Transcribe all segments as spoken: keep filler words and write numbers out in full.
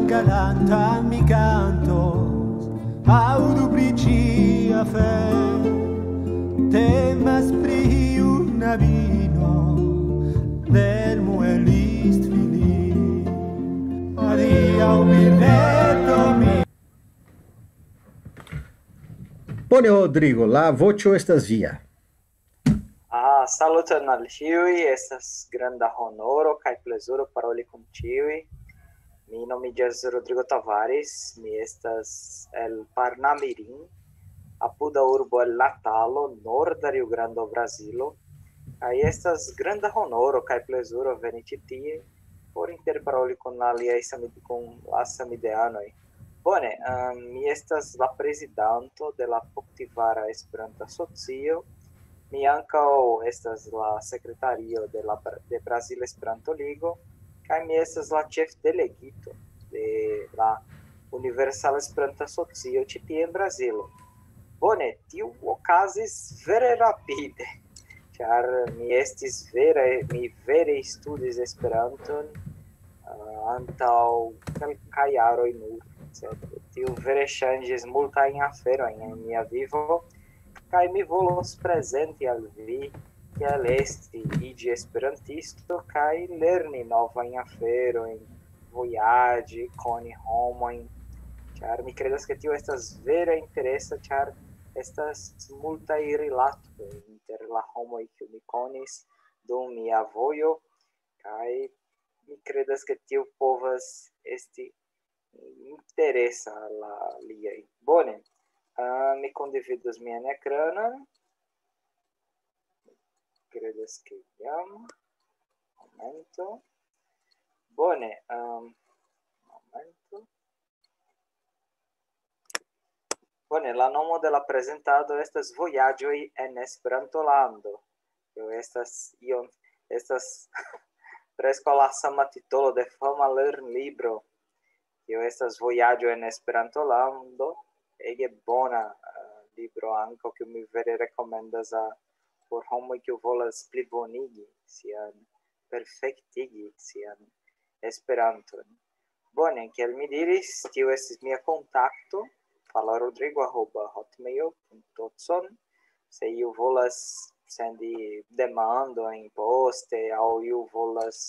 Galanta mi cantos, audu pri cia fe, temas pri una vino, del muelist fili. Adiaŭ, birdeto mi. Bone, Rodrigo, la voĉo estas via. Ah, saluton al ĉiuj, estas granda honoro kaj plezuro paroli kun ĉiuj. Mi nomiĝas Rodrigo Tavares, mi estas el Parnamirim, apuda urbo el Natalo, norda Rio Grando, Brazilo. Kaj estas granda honoro kaj plezuro veni ĉi tie por interparoli kun aliaj samid-, kun la samideanoj. Bone, ehm, mi estas la prezidanto de la Poktivara Esperanta Asocio. Mi ankaŭ estas la sekretario de la Bra-, de Brazila Esperanto Ligo, kaj mi estas la ĉefdelegito de la Universala Esperanta Asocio ĉi tie en Brazilo. Bone, tio okazis vere rapide, ĉar mi estis vere, mi vere studis Esperanton, ah, antaŭ kelkaj jaroj nur, sed tio vere ŝanĝis multajn aferojn en mia vivo, kaj mi volos prezenti al vi kiel esti, iĝi esperantisto kaj lerni novajn aferojn, vojaĝi, koni homojn, ĉar mi kredas, ke tio estas vere interesa, ĉar estas multaj rilatoj inter la homoj, kiu mi konis dum mia vojo, kaj mi kredas, ke tio povas esti interesa la liaj. Bone, ah, mi kondividos mian ekranon. Kredas, ke jam. Momento. Bone, ehm, momento. Bone, la nomo de la prezentado estas Vojaĝoj en Esperantolando. Tio estas iom, estas preskaŭ la sama titolo de fama lernlibro. Tio estas Vojaĝo en Esperantolando. Ege bona, eh, libro ankaŭ, kiu mi vere rekomendas a, por homoj, kiu volas plibonigi sian, perfektigi sian Esperanton. Bone, kiel mi diris, tio estis mia kontakto, fala rodrigo arroba hotmail punto com. Se iu volas sendi demandojn poste, aŭ iu volas,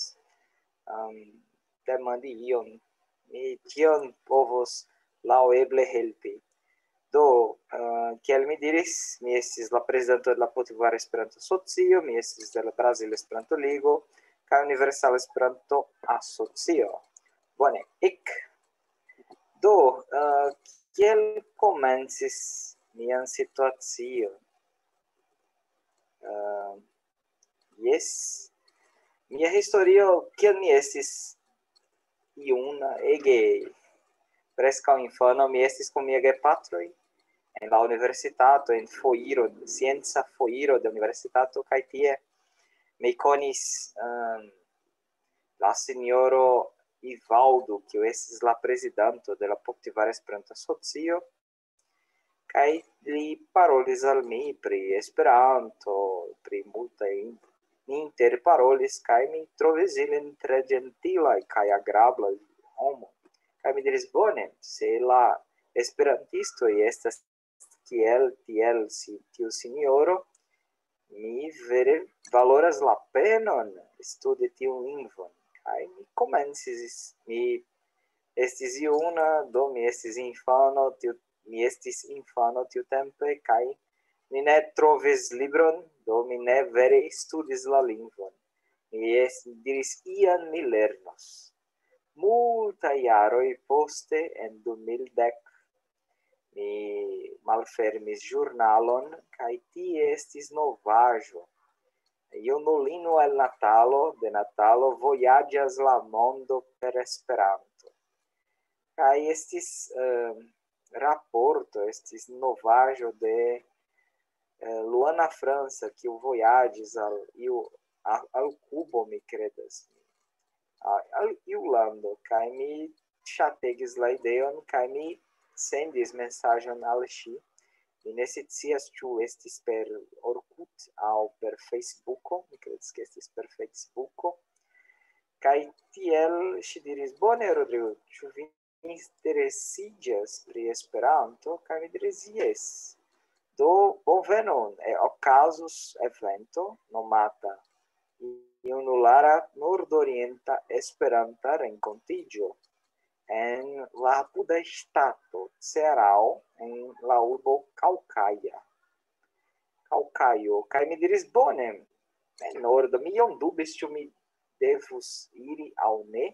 ehm, demandi ion, mi tion povos laŭeble helpi. Do, eh, kiel mi diris, mi estis la prezidanto de la Potiguara Esperanto Asocio, mi estis de la Brazila Esperanto Ligo, kaj Universala Esperanto Asocio. Bone, ek. Do, eh, kiel komencis mian situacion? Eh, jes, mia historio, kiel mi estis juna, ege preskaŭ infano, mi estis kun mia gepatroj en la universitato, en foiro, scienca foiro de universitato, kaj tie mi konis, ehm, la sinjoro Ivaldo, kiu estis la prezidanto de la Poktivara Esperanto Asocio, kaj li parolis al mi pri Esperanto, pri multaj in-, ni interparolis, kaj mi trovis ilin tre ĝentilaj kaj agrablaj homoj. Kaj mi diris, bone, se la esperantistoj estas kiel, tiel si-, tiu sinjoro, mi vere valoras la penon studi tiun lingvon. Kaj mi komencis, mi estis juna, do mi estis infano, tiu, mi estis infano tiutempe, kaj mi ne trovis libron, do mi ne vere studis la lingvon. Mi es-, diris, ian mi lernos. Multaj jaroj poste, en du mil dek, mi malfermis ĵurnalon, kaj tie estis novaĵo. Junulino el Natalo, de Natalo, vojaĝas la mondo per Esperanto. Kaj estis, eh, raporto, estis novaĵo de, eh, Luana França, kiu vojaĝis al iu, a-, al Kubo, mi kredas, a-, al iu lando, kaj mi ŝategis la ideon, kaj mi sendis mesaĝon al ŝi. Mi ne scias, ĉu estis per Orkut aŭ per Facebooko, mi kredas, ke estis per Facebooko. Kaj tiel ŝi diris, bone, Rodrigo, ĉu vi interesiĝas pri Esperanto, kaj mi diris: "Jes." Do, bonvenon, e, okazus evento nomata Junulara Nordorienta Esperanta Renkontiĝo en la apuda ŝtato Cearao, en la urbo Caucaia. Caucaio. Kaj mi diris: "Bone, en nordo." Mi iom dubis, ĉu mi devus iri aŭ ne.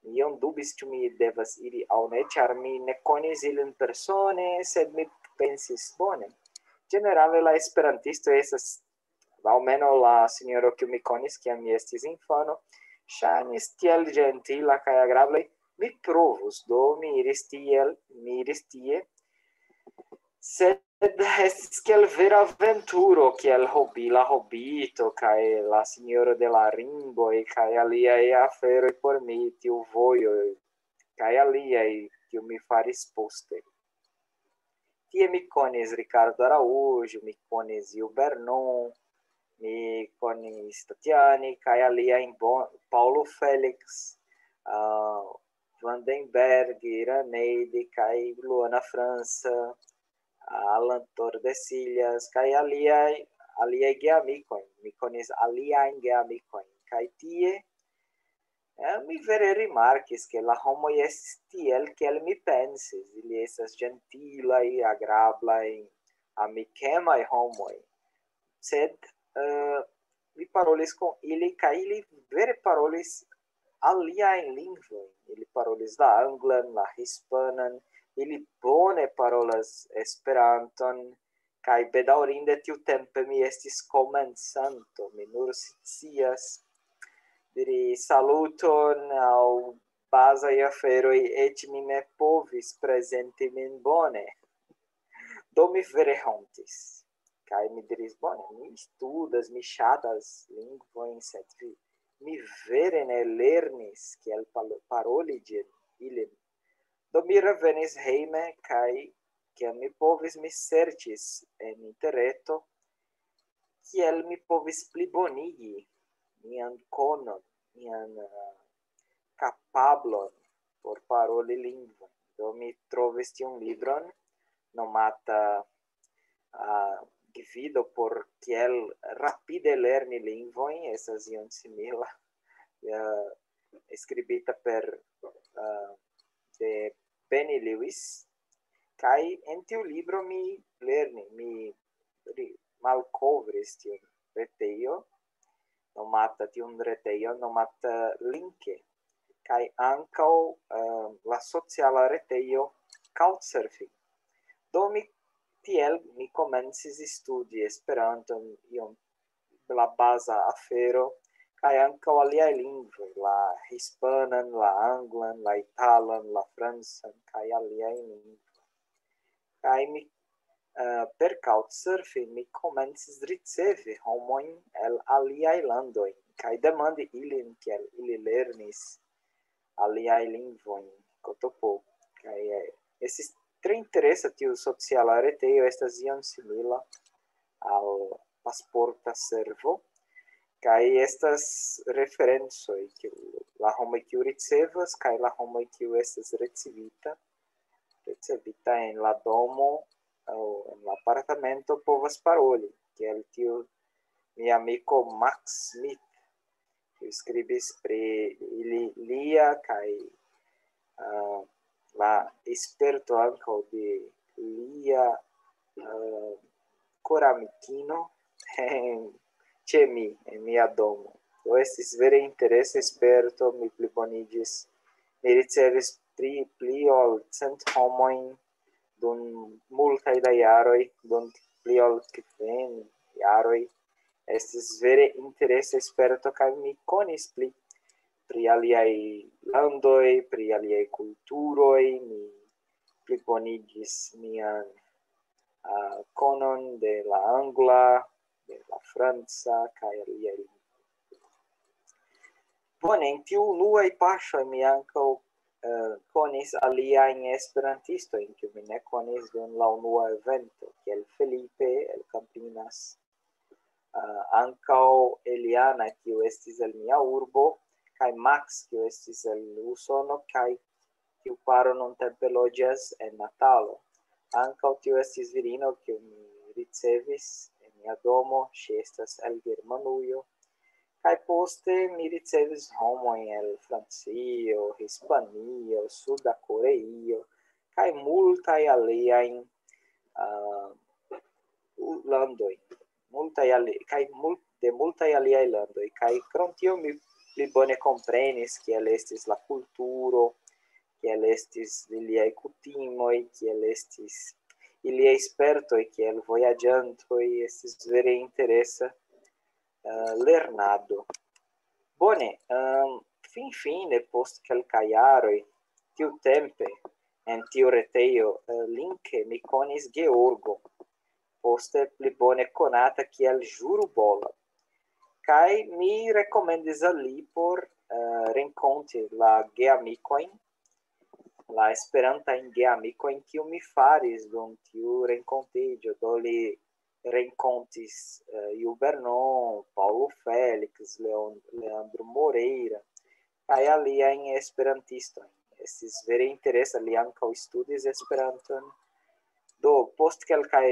Mi iom dubis, ĉu mi devas iri aŭ ne, ĉar mi ne konis ilin persone, sed mi pensis: "Bone." Ĝenerale la esperantistoj estas, almenaŭ la sinjoro, kiu mi konis, kiam mi estis infano, ŝajnis tiel ĝentila kaj agrabla. "Mi provus." Do mi iris tiel, mi iris tie. Sed estis kiel vera aventuro, kiel hobi, la Hobito kaj la Sinjoro de la Ringoj kaj aliaj aferoj por mi, tiu vojo kaj aliaj, kiu mi faris poste. Tie mi konis Ricardo Araújo, mi konis Gil Vernon, mi konis Tatiani kaj aliajn, bon, Paulo Félix, uh, Vandenberg, Iraneide kaj Luana França, Alan Tordesillas, kaj aliaj, aliaj geamikojn. Mi konis aliajn geamikojn. Kaj tie, eh, mi vere rimarkis, ke la homoj estis tiel, kiel mi pensis. Ili estas ĝentilaj, agrablaj, amikemaj homoj. Sed, eh, mi parolis kun ili, kaj ili vere parolis aliajn lingvojn. Ili parolis la anglan, la hispanan, ili bone parolas Esperanton, kaj bedaŭrinde tiutempe mi estis komencanto, mi nur scias diri saluton aŭ bazaj aferoj, eĉ mi ne povis prezenti min bone. Do mi vere hontis. Kaj mi diris: "Bone, mi studas, mi ŝatas lingvojn, sed vi, mi vere ne lernis kiel palo-, paroli ĝin, ilin." Do mi revenis hejme, kaj kiam mi povis, mi serĉis en interreto, kiel mi povis plibonigi mian konon, mian, eh, kapablon por paroli lingvon. Do mi trovis tiun libron nomata, ah, Gvido por kiel rapide lerni lingvojn, estas ion simila, eh, skribita per, eh, de Benny Lewis. Kaj en tiu libro mi lerni, mi ri-, malkovris tiun retejo, nomata, tiun retejon nomata Linke, kaj ankaŭ, eh, la sociala retejo Couchsurfing. Do mi tiel mi komencis studi Esperanton, iom la baza afero, kaj ankaŭ aliaj lingvoj, la hispanan, la anglan, la italan, la francan, kaj aliaj lingvoj. Kaj mi, eh, per Couchsurfing mi komencis ricevi homojn el aliaj landoj, kaj demandi ilin, kiel ili lernis aliaj lingvojn, kotopo. Kaj, eh, estis tre interesa tiu sociala retejo, estas iom simila al Pasporta Servo. Kaj estas referencoj, kiu, la homoj, kiu ricevas, kaj la homoj, kiu estas ricevita, ricevita en la domo aŭ en la apartamento, povas paroli, kiel tiu mia amiko Max Smith, kiu skribis pri ili, lia kaj, ah, la sperto ankaŭ de lia, ah, koramikino en, ĉe mi, en mia domo. Do estis vere interesa sperto, mi pliboniĝis, mi ricevis pli, pli ol cent homojn dum multaj da jaroj, dum pli ol kvin jaroj. Estis vere interesa sperto, kaj mi konis pli pri aliaj landoj, pri aliaj kulturoj, mi plibonigis mian, ah, konon de la angla, de la franca, kaj aliaj lingvoj. Bone, en tiu unuaj paŝoj mi ankaŭ, eh, konis aliajn esperantistojn, kiu mi ne konis dum la unua evento, kiel Felipe el Campinas, eh, ankaŭ Eliana, kiu estis el mia urbo, kaj Max, kiu estis el Usono, kaj tiu paro nuntempe loĝas en Natalo. Ankaŭ tio estis virino, kiu mi ricevis en mia domo, ŝi estas el Germanujo. Kaj poste mi ricevis homojn el Francio, Hispanio, Suda Koreio, kaj multaj aliajn, ah, u-, landoj, multaj ali-, kaj mul-, de multaj aliaj landoj. Kaj krom tio mi pli bone komprenis, kiel estis la kulturo, kiel estis iliaj kutimoj, kiel estis iliaj spertoj, kiel vojaĝantoj. Estis vere interesa, eh, lernado. Bone, ehm, finfine, post kelkaj jaroj, tiutempe, en tiu retejo, eh, Linke, mi konis Georgo, poste pli bone konata kiel Ĵurubola. Kaj mi rekomendis al li por, eh, renkonti la geamikojn, la esperantajn geamikojn, kiu mi faris dum tiu renkontiĝo. Do li renkontis, eh, Ju Bernon, Paulo Félix, Leon-, Leandro Moreira, kaj aliajn esperantistojn. Estis vere interesa, li ankaŭ studis Esperanton. Do, post kelkaj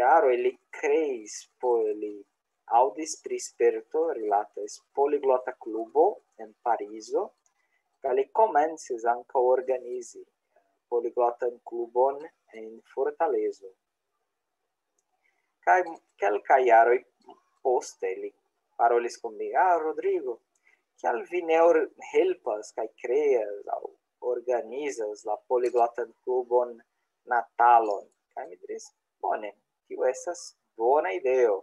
jaroj li kreis, po-, li aŭdis pri sperto, rilatas Poliglota Klubo en Parizo, kaj li komencis ankaŭ organizi Poliglotan Klubon en Fortalezo. Kaj kelkaj jaroj poste li parolis kun mi: "Ah, Rodrigo, kial vi ne or-, helpas kaj kreas aŭ organizas la Poliglotan Klubon Natalon?" Kaj mi diris: "Bone, tio estas bona ideo."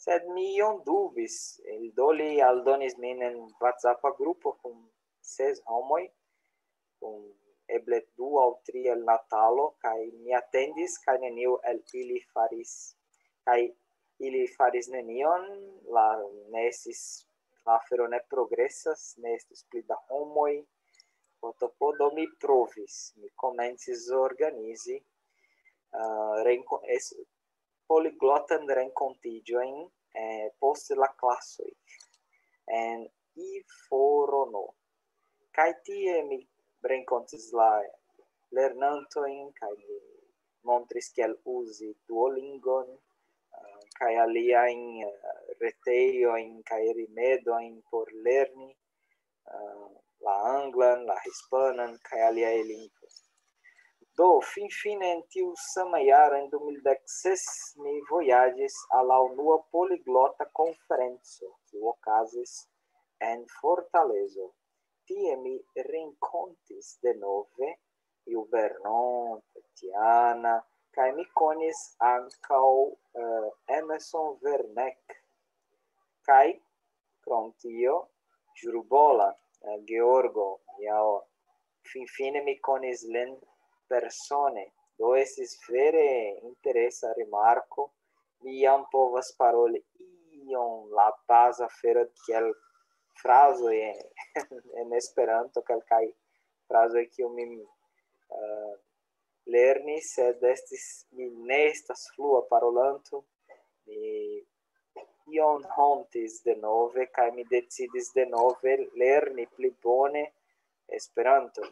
Sed mi iom dubis, el do li aldonis min en WhatsAppa grupo kun ses homoj, kun eble du aŭ tri el Natalo, kaj mi atendis, kaj neniu el ili faris, kaj ili faris nenion, la, ne estis, la afero ne progresas, ne estis pli da homoj, po, po, do mi provis, mi komencis organizi, eh, renko-, es-, poliglotan renkontiĝojn, eh, post la klasoj en Iforono. Kaj tie mi renkontis la lernantojn, kaj mi montris kiel uzi Duolingon, eh, kaj aliajn, eh, retejojn kaj rimedojn por lerni, eh, la anglan, la hispanan, kaj aliaj lingvoj. Do, finfine en tiu sama jaro, en du mil dek ses, mi vojaĝis al la unua poliglota konferenco, kiu okazis en Fortalezo. Tie mi renkontis denove Ju Bernon, Tatiana, kaj mi konis ankaŭ, eh, Emerson Werneck. Kaj krom tio, Ĵurubola, eh, Georgo, ja, finfine mi konis lin persone. Do estis vere interesa rimarko. Mi jam povas paroli iom la baza afero kiel frazoj en, en Esperanto, kelkaj frazoj, kiu mi, eh, lernis, sed estis, mi ne estas flua parolanto. Mi iom hontis denove, kaj mi decidis denove lerni pli bone Esperanton.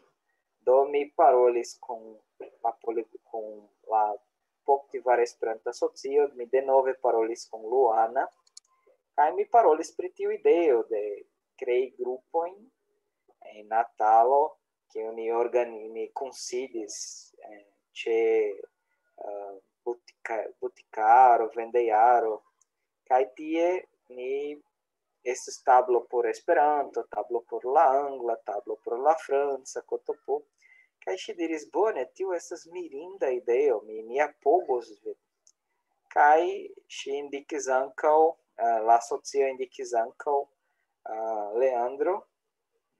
Do mi parolis kun la poli-, kun la Poktivar Esperanta Asocio, mi denove parolis kun Luana, kaj mi parolis pri tiu ideo de krei grupojn en Natalo, kiun ni organi-, ni kunsidis, eh, ĉe, eh, butika-, butikaro, vendejaro, kaj tie ni estis tablo por Esperanto, tablo por la angla, tablo por la franca, kotopo. Kaj ŝi diris: "Bone, tio estas mirinda ideo, mi, mi apogos vin." Kaj ŝi indikis ankaŭ, eh, la asocio indikis ankaŭ, eh, Leandro,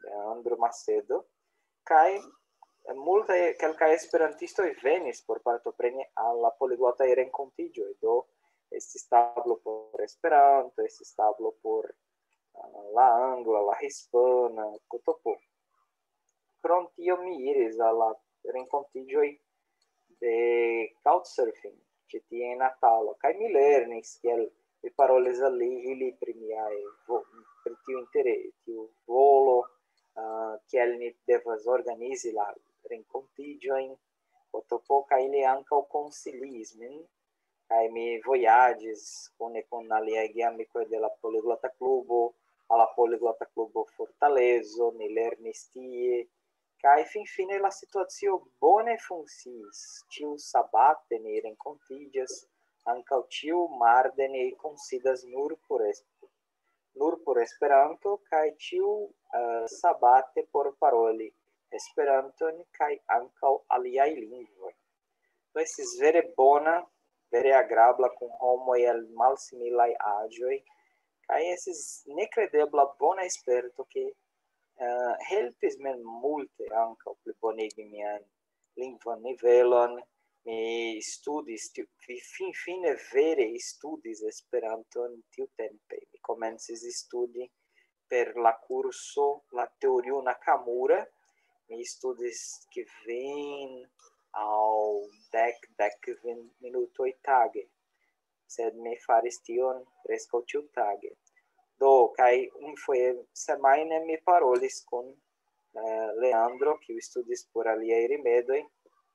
Leandro Macedo, kaj multaj, kelkaj esperantistoj venis por partopreni al la poliglotaj renkontiĝoj. Do estis tablo por Esperanto, estis tablo por, eh, la angla, la hispana, kotopo. Krom tio mi iris al la renkontiĝoj de Couchsurfing ĉi tie en Natalo, kaj mi lernis, kiel mi parolis al li, ili pri miaj vo-, pri tiu intere-, tiu volo, uh, kiel ni devas organizi la renkontiĝojn, Otopo kaj li ankaŭ konsilis min, kaj mi vojaĝis kune kun aliaj geamikoj de la Poliglota Klubo, al la Poliglota Klubo Fortalezo, ni lernis tie, kaj finfine la situacio bone funkciis. Ĉiu sabate ni renkontiĝas, ankaŭ ĉiu marde ni kunsidas nur por es-, nur por Esperanto, kaj ĉiu, eh, sabate por paroli Esperanton kaj ankaŭ aliaj lingvoj. Do estis vere bona, vere agrabla kun homoj el malsimilaj aĝoj, kaj estis nekredebla bona sperto, ke, eh, helpis min multe ankaŭ plibonigi mian lingvan nivelon. Mi studis, tiu-, fi-, finfine vere studis Esperanton tiutempe. Mi komencis studi per la kurso La Teorio Nakamura. Mi studis kvin aŭ dek, dek kvin minutoj tage, sed mi faris tion preskaŭ ĉiutage. Do, kaj unufoje semajne mi parolis kun, eh, Leandro, kiu studis por aliaj rimedoj,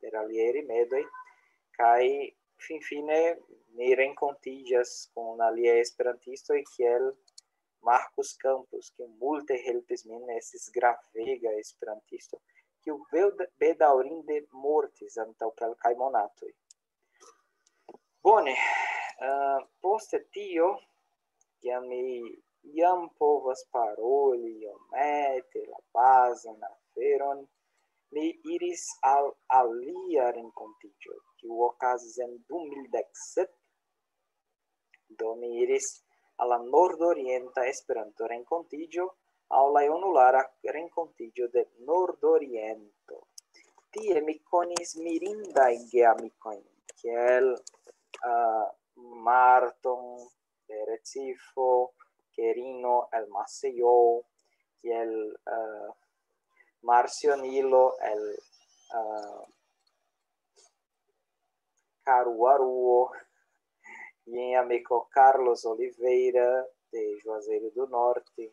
per aliaj rimedoj, kaj finfine ni renkontiĝas kun aliaj esperantistoj, kiel Marcus Campos, kiu multe helpis min, estis gravega esperantisto, kiu bed-, bedaŭrinde mortis antaŭ kelkaj monatoj. Bone, eh, poste tio, kiam mi jam povas paroli iomete la bazan aferon, mi iris al alia renkontiĝo, kiu okazis en du mil dek sep. Do mi iris al la Nordorienta Esperanto-Renkontiĝo, aŭ la junulara renkontiĝo de Nordoriento. Tie mi konis mirindajn geamikojn, kiel, eh, Marton de Recife, Querino el Maceió, kiel, eh, Marcionilo el, eh, Caruaruo, jen amiko Carlos Oliveira de Juazeiro do Norte,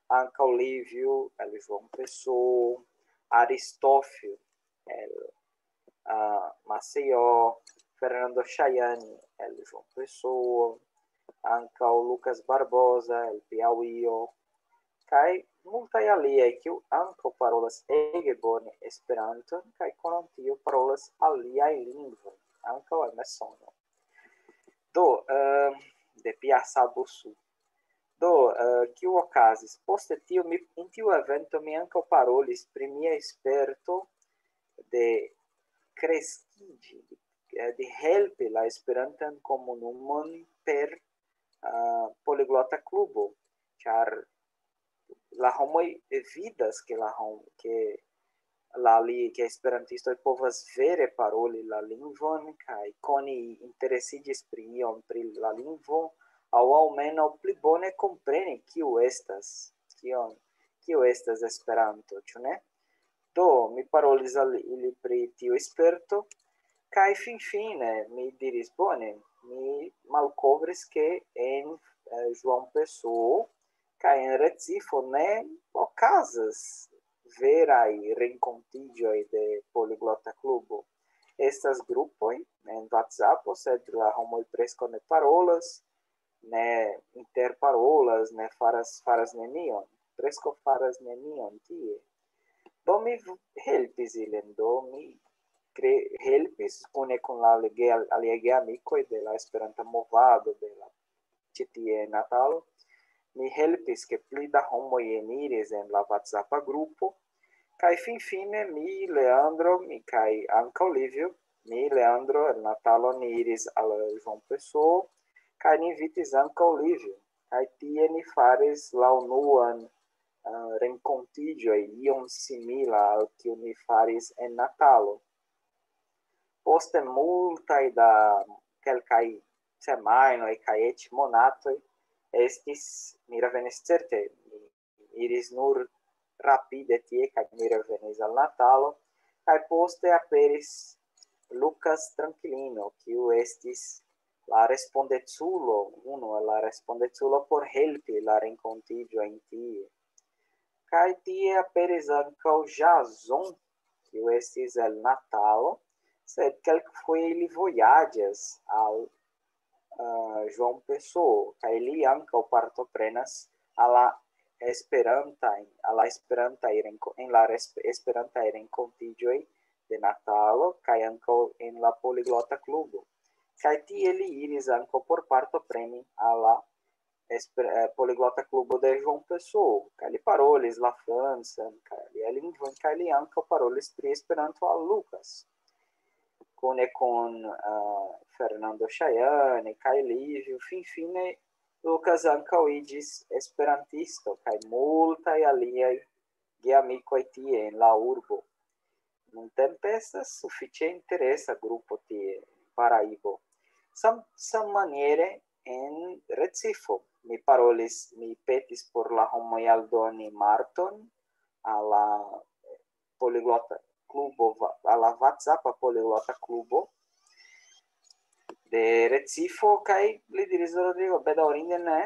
ankaŭ Lívio el João Pessoa, Aristófio el, ah, Maceió, Fernando Chayani el João Pessoa, ankaŭ Lucas Barbosa el Piauí, kaj multaj aliaj, kiu ankaŭ parolas ege bone Esperanton, kaj krom tio parolas aliaj lingvoj, ankaŭ en Messono. Do, eh, de Piasabusu. Do, eh, kio okazis? Poste tio mi, en tiu evento mi ankaŭ parolis pri mia sperto de kreskiĝi, eh, de helpi la Esperantan komunumon per, ah, Poliglota Klubo, ĉar la homoj vidas, ke la hom-, ke la li-, ke esperantistoj povas vere paroli la lingvon kaj koni interesiĝis pri iom pri la lingvo, aŭ almenaŭ pli bone kompreni, kiu estas, kion, kio estas Esperanto, ĉu ne? Do, mi parolis al ili pri tiu sperto, kaj finfine mi diris, bone, mi malkovris, ke en, eh, João Pessoa kaj en Recife ne okazas veraj renkontiĝoj de Poliglota Klubo. Estas grupoj en WhatsApp, sed la homoj preskaŭ ne parolas, ne interparolas, ne faras, faras nenion, preskaŭ faras nenion tie. Do mi v-, helpis ilin, do mi kre-, helpis kune kun la lege-, aliaj geamikoj de la Esperanta movado, de la ĉi tie en Natalo. Mi helpis, ke pli da homoj eniris en la WhatsAppa grupo. Kaj finfine mi, Leandro, mi kaj ankaŭ Livio, mi, Leandro, el Natalo ni iris al João Pessoa, kaj ni invitis ankaŭ Livio. Kaj tie ni faris la unuan, eh, renkontiĝoj iom simila al kiu ni faris en Natalo. Poste multaj da kelkaj semajnoj kaj eĉ monatoj estis, mi revenis certe, mi iris nur rapide tie kaj mi revenis al Natalo, kaj poste aperis Lucas Tranquilino, kiu estis la respondeculo, unu el la respondeculo por helpi la renkontiĝojn tie. Kaj tie aperis ankaŭ Jason, kiu estis el Natalo, sed kelkfoje ili vojaĝas al uh, João Pessoa, kaj li ankaŭ partoprenas al la esperantaj, al la esperantaj renko-, en la resp-, esperantaj renkontiĝoj de Natalo kaj ankaŭ en la Poliglota Klubo. Kaj tie li iris ankaŭ por partopreni al la esper-, eh, Poliglota Klubo de João Pessoa, kaj li parolis la francan, kaj aliaj lingvojn, kaj li ankaŭ parolis pri Esperanto al Lucas. Kune kun, eh, Fernando Chayane kaj Livio, finfine Lucas ankaŭ iĝis esperantisto, kaj multaj aliaj geamikoj tie en la urbo. Nuntempe estas sufiĉe interesa grupo tie, Paraibo. Sam-, sammaniere en Recifo. Mi parolis, mi petis por la homoj aldoni Marton al la Poliglota Klubo, va-, al la WhatsAppa Poliglota Klubo de Recifo, kaj li diris: "Rodrigo, bedaŭrinde ne,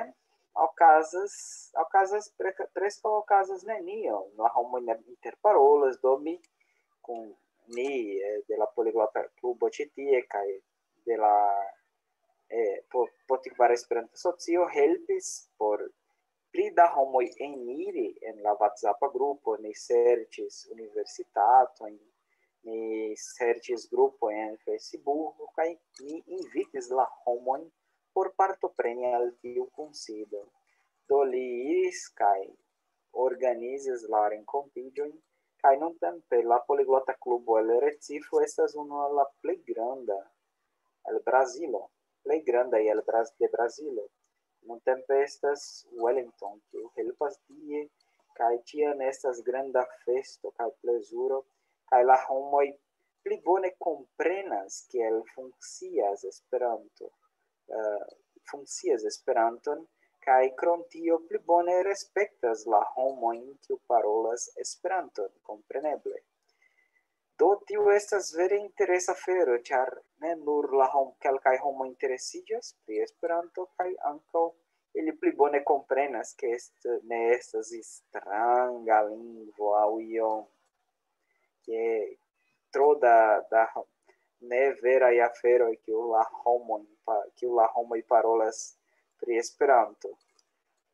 okazas, okazas pre-, preskaŭ okazas nenio. La homoj ne interparolas, do mi kun ni, eh, de la Poliglota Klubo ĉi tie kaj de la, eh, po-, Potiguar Esperanto Socio helpis por pli da homoj eniri en la WhatsAppa grupo, ni serĉis universitatojn, ni serĉis grupojn en Facebook, kaj ni invitis la homojn por partopreni al tiu kunsido." Do li iris kaj organizis la renkontiĝojn, kaj nuntempe la Poliglota Klubo el Recifo estas unu el la plej granda el Brazilo, plej grandaj el Braz-, de Brazilo. Nuntempe estas Wellington, kiu helpas tie, kaj ĉiam estas granda festo kaj plezuro, kaj la homoj pli bone komprenas kiel funkcias Esperanto, eh, funkcias Esperanton, kaj krom tio pli bone respektas la homojn, kiu parolas Esperanton, kompreneble. Do tio estas vere interesa afero, ĉar ne nur la hom-, kelkaj homoj interesiĝas pri Esperanto, kaj ankaŭ ili pli bone komprenas, ke est-, ne estas stranga lingvo aŭ iom, ke tro da, da ho-, ne veraj aferoj, kiu la homoj pa-, kiu la homoj parolas pri Esperanto.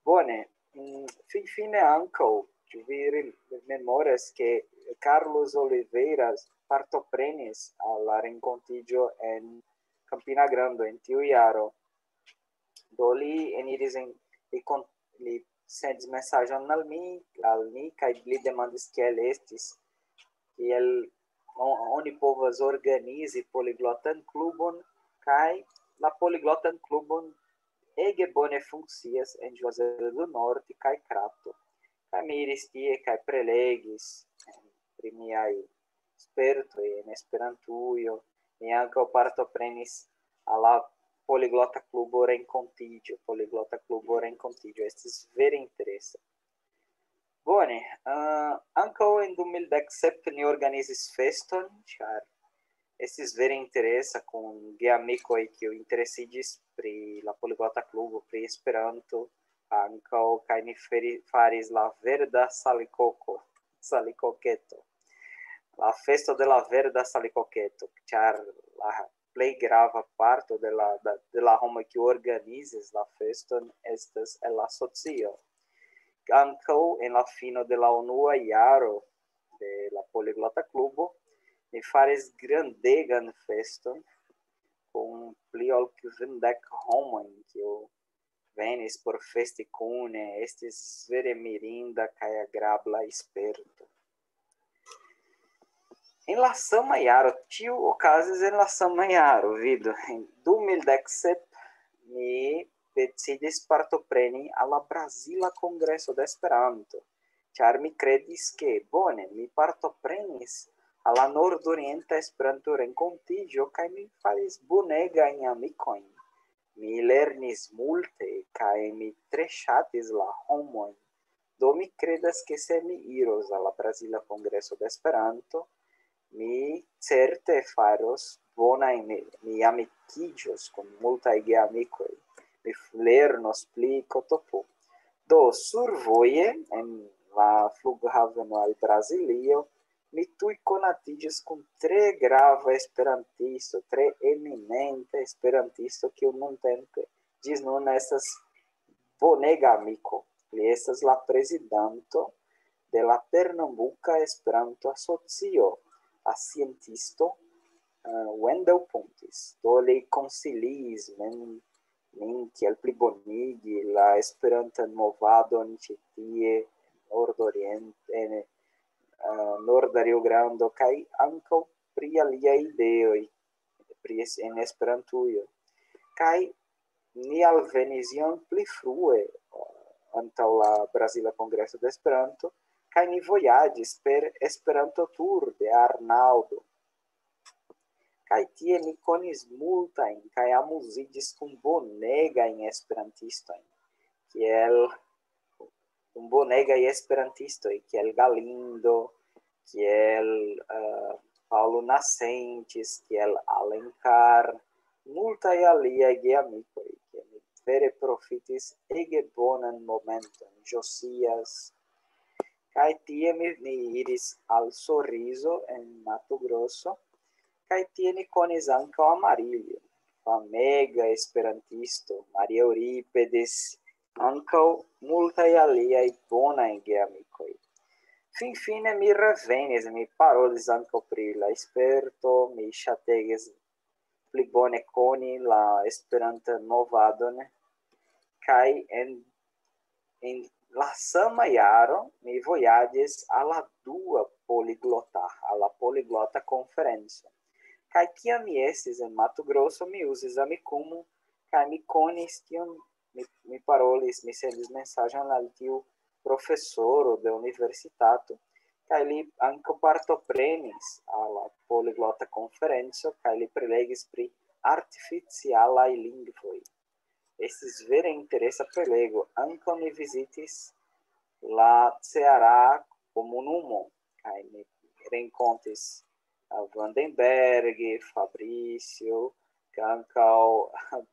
Bone, mm, finfine ankaŭ, ĉu vi re-, memoras, ke Carlos Oliveira partoprenis al la renkontiĝo en Campina Grande en tiu jaro? Do li eniris en, li kon-, li sendis mesaĝon al mi, al ni, kaj li demandis kiel estis, kiel o-, oni povas organizi poliglotan klubon, kaj la poliglotan klubon ege bone funkcias en Juazeiro do Norte kaj Crato. Kaj mi iris tie kaj prelegis, em, pri miaj spertoj en Esperantujo. Mi ankaŭ partoprenis al la Poliglota Klubo renkontiĝo. Poliglota Klubo renkontiĝo estis vere interesa. Bone, ah, ankaŭ en du mil dek sep ni organizis feston, ĉar estis vere interesa kun geamikoj, kiuj interesiĝis pri la Poliglota Klubo, pri Esperanto ankaŭ, kaj ni feri-, faris la verda salikoko, salikoketo. La festo de la verda salikoketo, ĉar la plej grava parto de la, de, de la homoj, kiu organizis la feston, estas el la socio. Ankaŭ en la fino de la unua jaro de la Poliglota Klubo, ni faris grandegan feston kun pli ol kvindek homojn, kiu venis por festi kune. Estis vere mirinda kaj agrabla sperto. En la sama jaro, ĉio okazis en la sama jaro, vidu, en du mil dek sep mi decidis partopreni al la Brazila Kongreso de Esperanto, ĉar mi kredis, ke bone, mi partoprenis al la Nordorienta Esperanto-Renkontiĝo, kaj mi faris bonegajn amikojn. Mi lernis multe, kaj mi tre ŝatis la homojn. Do mi kredas, ke se mi iros al la Brazila Kongreso de Esperanto, mi certe faros bonajn, mi, mi amikiĝos kun multaj geamikoj. Mi f-, lernos pli kotopo. Do survoje, en la flughaveno al Brazilio, mi tuj konatiĝis kun tre grava esperantisto, tre eminenta esperantisto, kiu nuntempe ĝis nun estas bonega amiko. Li estas la prezidanto de la Pernambuka Esperanto-Asocio, la scientisto, eh, Wendel Pontes. Do li konsiliis min, min kiel plibonigi la Esperantan movadon ĉi tie, nordoriente, en, eh, norda Rio Grando, kaj ankaŭ pri aliaj ideoj pri es-, en Esperantujo. Kaj ni alvenis iom pli frue, eh, antaŭ la Brazila Kongreso de Esperanto, kaj ni vojaĝis per Esperanto-tur de Arnaldo. Kaj tie ni konis multajn kaj amuziĝis kun bonegajn esperantistojn, kiel, kun bonegaj esperantistoj, kiel Galindo, kiel, eh, Paulo Nascentes, kiel Alencar, multaj aliaj geamikoj, ke mi vere profitis ege bonan momenton, Josias. Kaj tie mi, mi iris al Sorriso en Mato Grosso, kaj tie ni konis ankaŭ Amarillo, famega esperantisto, Maria Euripides, ankaŭ multaj aliaj bonaj geamikoj. Finfine mi revenis, mi parolis ankaŭ pri la Esperanto, mi ŝategis pli bone koni la Esperantan movadon, kaj en, en la sama jaro mi vojaĝis al la dua poliglota, al la poliglota konferenco. Kaj kiam mi estis en Mato Grosso, mi uzis Amikumu, kaj mi konis tiun, mi, mi parolis, mi sendis mesaĝon al tiu profesoro de universitato, kaj li ankaŭ partoprenis al la poliglota konferenco, kaj li prelegis pri artificialaj lingvoj. Estis vere interesa prelego. Ankaŭ ni vizitis la Ceará komunumo, kaj ni renkontis, eh, Vandenberg, Fabrício, kaj ankaŭ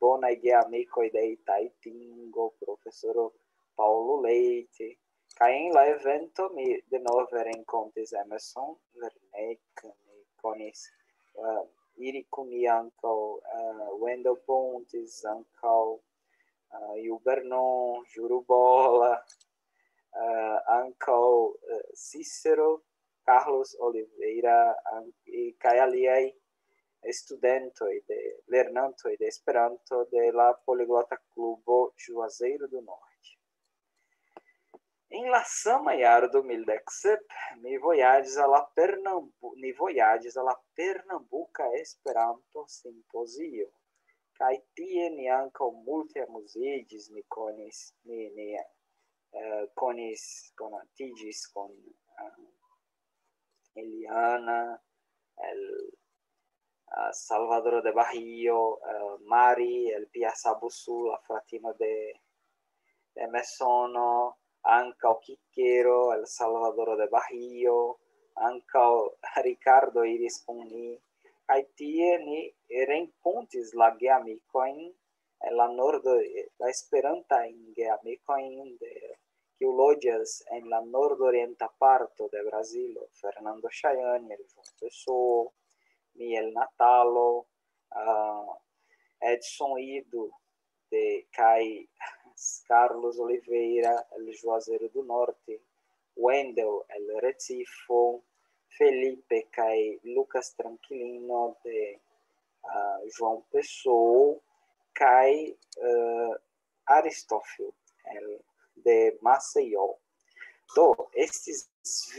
bonaj geamikoj de Itaitingo, profesoro Paulo Leite. Kaj en la evento mi denove renkontis Emerson Werneck, mi konis, eh, iri kun li ankaŭ, eh, Wendel Pontes, ankaŭ, eh, Gil Vernon, Juru Bola, eh, ankaŭ, eh, Cícero, Carlos Oliveira, an-, kaj aliaj studentoj de, lernantoj de Esperanto de la Poliglota Klubo Juazeiro do Norte. En la sama jaro du mil dek sep, mi vojaĝis al la Pernambu-, ni vojaĝis al la Pernambuka Esperanto Simpozio. Kaj tie ni ankaŭ multe amuziĝis, ni konis, ni, ni, eh, konis, konatiĝis kun, eh, Eliana, el, eh, Salvador de Bahio, eh, Mari, el Piasabusu, la fratino de, de Mesono, ankaŭ Kikero, el Salvador de Bahio, ankaŭ Ricardo iris kun ni. Kaj tie ni renkontis la geamikojn en la nordo, la esperantajn geamikojn de, kiu loĝas en la nordorienta parto de Brazilo, Fernando Chayani, el João Pessoa, Miel Natalo, ah, Edson Ido de, kaj Carlos Oliveira, el Juazeiro do Norte, Wendel, el Recifo, Felipe kaj Lucas Tranquilino de, ah, João Pessoa, kaj, eh, Aristófilo, el, de Maceió. Do, estis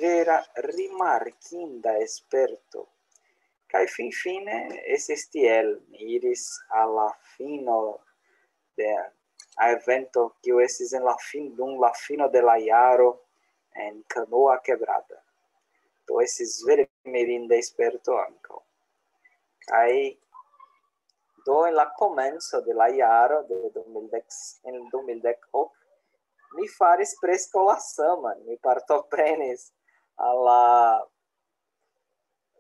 vera rimarkinda sperto. Kaj finfine estis tiel, mi iris al la fino de evento, kiu estis en la fin-, dum la fino de la jaro en Canoa Quebrada. Do, estis vere mirinda sperto ankaŭ. Kaj do en la komenco de la jaro de du mil dek, en du mil dek ok, mi faris preskaŭ la saman. Mi partoprenis al la,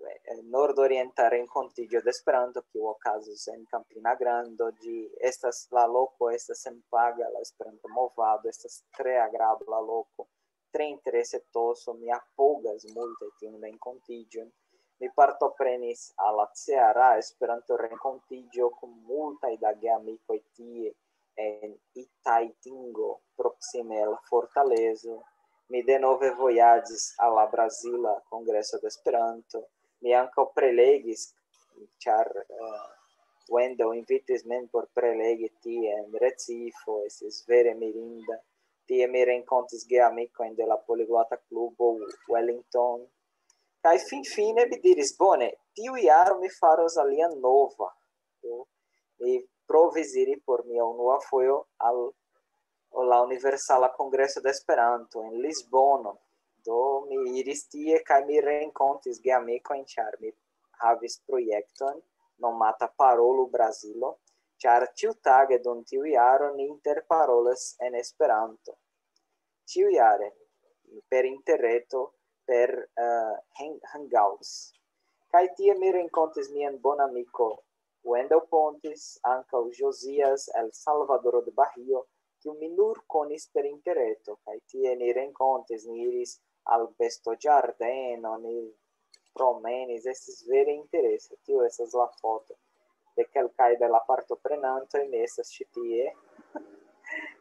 eh, nordorienta renkontiĝo de Esperanto, kiu okazis en Campina Grando. Ĝi estas, la loko estas senpaga, la Esperanto-movado, estas tre agrabla loko, tre interese toso, mi apogas multe tiun renkontiĝon. Mi partoprenis al la Ceara Esperanto-renkontiĝo kun multaj da geamikoj tie en Itaitingo, proksime el Fortalezo. Mi denove vojaĝis al la Brazila Kongreso de Esperanto. Mi ankaŭ prelegis, ĉar, eh, Wendell invitis min por prelegi tie en Recifo, estis vere mirinda. Tie mi renkontis geamikojn de la Poliglota Klubo Wellington. Kaj finfine mi diris: "Bone, tiu jaro mi faros alian nova." Do, mi provis iri por mia unua fojo al, al la Universala Kongreso de Esperanto en Lisbono. Do, mi iris tie kaj mi renkontis geamikojn, ĉar mi havis projekton nomata Parolu Brazilo, ĉar ĉiutage dum tiu jaro ni interparolas en Esperanto. Ĉiujare per interreto, per, eh, hang-, Hangouts. Kaj tie mi renkontis mian bonamiko Wendell Pontes, ankaŭ Josias el Salvador de Bahio, kiu mi nur konis per interreto, kaj tie ni renkontis, ni iris al bestoĝardeno, ni promenis, estis vere interese. Tio estas la foto de kelkaj de la partoprenantoj, mi estas ĉi tie.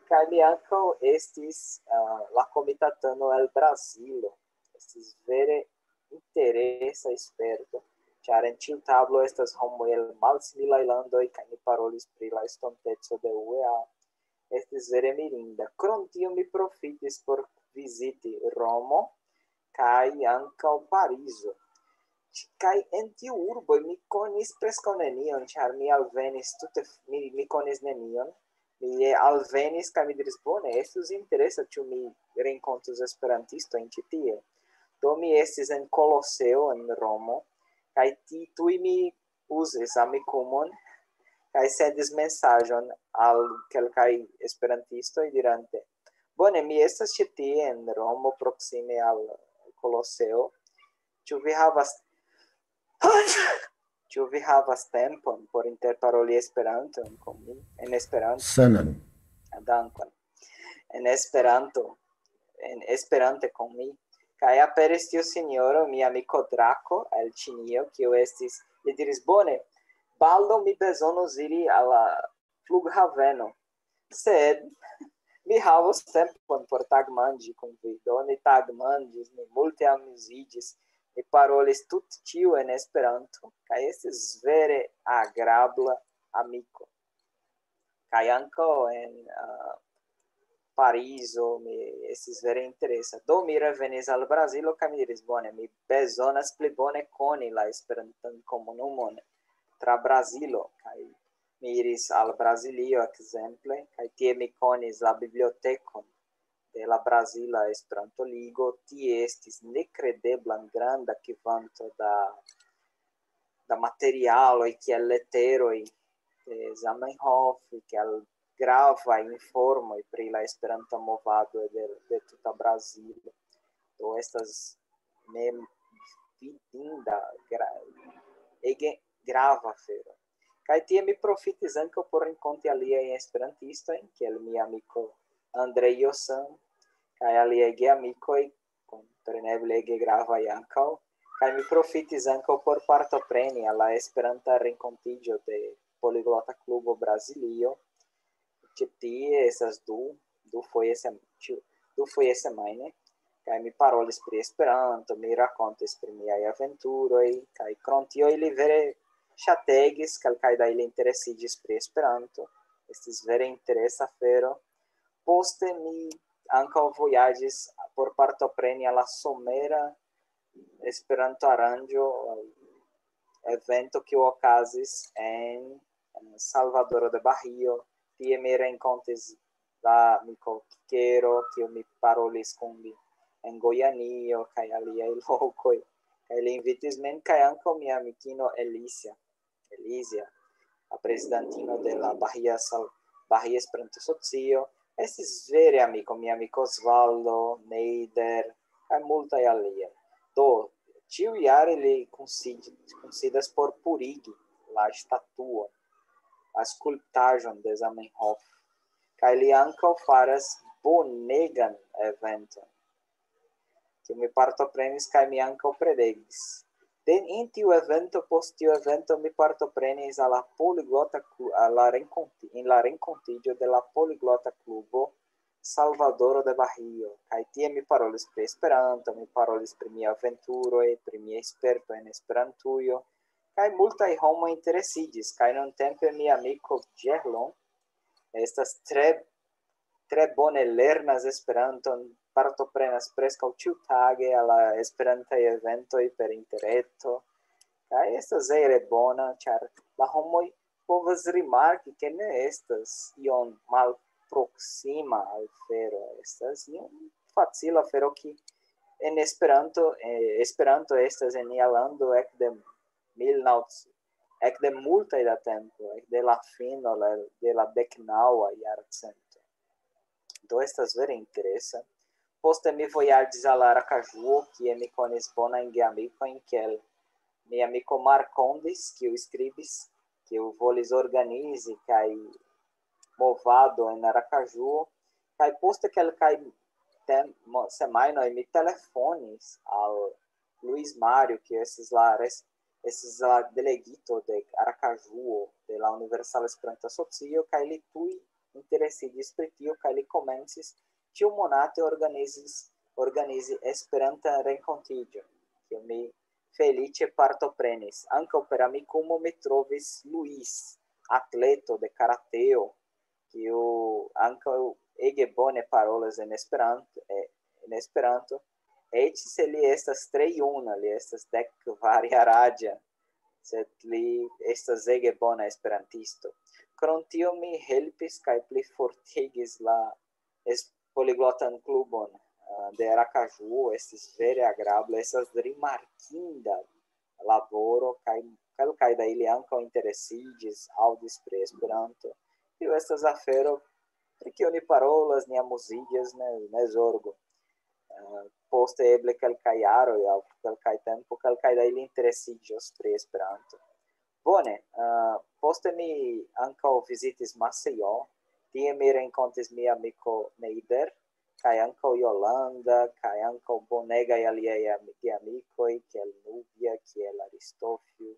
Kaj mi ankaŭ estis, eh, la komitatano el Brazilo. Estis vere interesa sperto, ĉar en ĉiu tablo estas homoj el malsimilaj landoj, kaj ni parolis pri la estonteco de U E A. Estis vere mirinda. Krom tio mi profitis por viziti Romo kaj ankaŭ Parizo. Ĉ-, kaj en tiu urbo mi konis preskaŭ nenion, ĉar mi alvenis tute f-, mi, mi konis nenion. Mi alvenis kaj mi diris: "Bone, estus interesa, ĉu mi renkontus esperantistojn ĉi tie." Do mi estis en Koloseo en Romo, kaj ti-, tuj mi uzis Amikumon, kaj sendis mesaĝon al kelkaj esperantistoj dirante: "Bone, mi estas ĉi tie en Romo, proksime al Koloseo. Ĉu vi havas, ĉu vi havas tempon por interparoli Esperanton kun mi?" En Esperanto. Sanon. Dankon. En Esperanto, en Esperante kun mi. Kaj aperis tiu sinjoro, mia amiko Drako el Ĉinio, kiu estis, li diris: "Bone, baldaŭ mi bezonos iri al la flughaveno. Sed mi havos tempon por tagmanĝi kun vi." Do ni tagmanĝis, ni multe amuziĝis, ni parolis tute ĉio en Esperanto, kaj estis vere agrabla amiko. Kaj ankaŭ en, ah, Parizo mi estis vere interesa. Do mi revenis al Brazilo kaj mi diris: "Bone, mi bezonas pli bone koni la Esperantan komunumon tra Brazilo." Kaj mi iris al Brazilio, ekzemple, kaj tie mi konis la bibliotekon de la Brazila Esperanto-Ligo. Tie estis nekredeblan granda kvanto da, da materialoj, kiel leteroj de Zamenhof, kiel gravaj informoj pri la Esperanto-movado de, de tuta Brazilo. Do estas mem vidinda gra-, ege grava afero. Kaj tie mi profitis ankaŭ por renkonti aliajn esperantistojn, kiel mia amiko Andrei Josan, kaj aliaj geamikoj, kompreneble ege gravaj ankaŭ. Kaj mi profitis ankaŭ por partopreni al la Esperanta renkontiĝo de Poliglota Klubo Brazilio. Ĉi tie estas du, du foje sem-, ĉu, du foje semajne, kaj mi parolis pri Esperanto, mi rakontis pri miaj aventuroj, kaj krom tio ili vere ŝategis, kelkaj da ili interesiĝis pri Esperanto, estis vere interesa afero. Poste mi ankaŭ vojaĝis por partopreni al la somera Esperanto-aranĝo, evento, kiu okazis en, en Salvadoro de Bahio. Tie mi renkontis la amiko Kikero, kiu mi parolis kun li en Gojanio kaj aliaj lokoj. Kaj li invitis min kaj ankaŭ mia amikino Elisia, Elisia, la prezidantino de la Bahia Sal-, Bahia Esperanto-Socio. Estis vere amiko, mia amiko Osvaldo, Neider, kaj multaj aliaj. Do, ĉiujare li kunsid-, kunsidas por purigi la statuon, la skulptaĵon de Zamenhof. Kaj li ankaŭ faras bonegan eventon. kiu mi partoprenis, kaj mi ankaŭ prelegis. De en tiu evento, post tiu evento, mi partoprenis al la poliglota klu-, al la renkonti-, en la renkontiĝo de la poliglota klubo Salvadoro de Bahio. Kaj tie mi parolis pri Esperanto, mi parolis pri mia aventuroj, pri mia sperto en Esperantujo, kaj multaj homoj interesiĝis, kaj nuntempe mia amiko Ĝerlon estas tre, tre bone lernas Esperanton, partoprenas preskaŭ ĉiutage al la Esperantaj eventoj per interreto, kaj estas ege bona, ĉar la homoj povas rimarki, ke ne estas iom malproksima afero, estas iom facila afero, ke en Esperanto, eh, Esperanto estas en nia lando ekde mil naŭ, ekde multaj da tempo, ekde la fino la, de la deknaŭa jarcento. Do estas vere interesa. Poste mi vojaĝis al Arakaĵuo, kie mi konis bonajn geamikojn, kiel mia amiko Markondis, kiu skribis, kiu volis organizi kaj movado en Arakaĵuo, kaj poste kelkaj tem-, mo-, semajnoj mi telefonis al Luis Mario, kiu estis la res-, estis la delegito de Arakaĵuo de la Universala Esperanto-Asocio, kaj li tuj interesiĝis pri tio, kaj li komencis ĉiumonate organizis, organizi Esperantan renkontiĝon, kiu mi feliĉe partoprenis. Ankaŭ per Amikumo mi trovis Luis, atleto de karateo, kiu ankaŭ ege bone parolas en Esperanto, eh, en Esperanto, eĉ se li estas tre juna, li estas dek kvar jaraĝa, sed li estas ege bona esperantisto. Krom tio mi helpis kaj plifortigis la es-, poliglotan klubon, eh, de Arakaĵuo, estis vere agrable, estas rimarkinda laboro, kaj kelkaj da ili ankaŭ interesiĝis, aŭdis pri Esperanto. Tio estas afero, pri kio ni parolas, ni amuziĝas, ne, ne zorgu. Eh, poste eble kelkaj jaroj aŭ kelkaj tempo, kelkaj da ili interesiĝos pri Esperanto. Bone, eh, poste mi ankaŭ vizitis Maceió, tie mi renkontis mia amiko Neider, kaj ankaŭ Yolanda, kaj ankaŭ bonegaj aliaj am-, geamikoj, kiel Nubia, kiel Aristofio,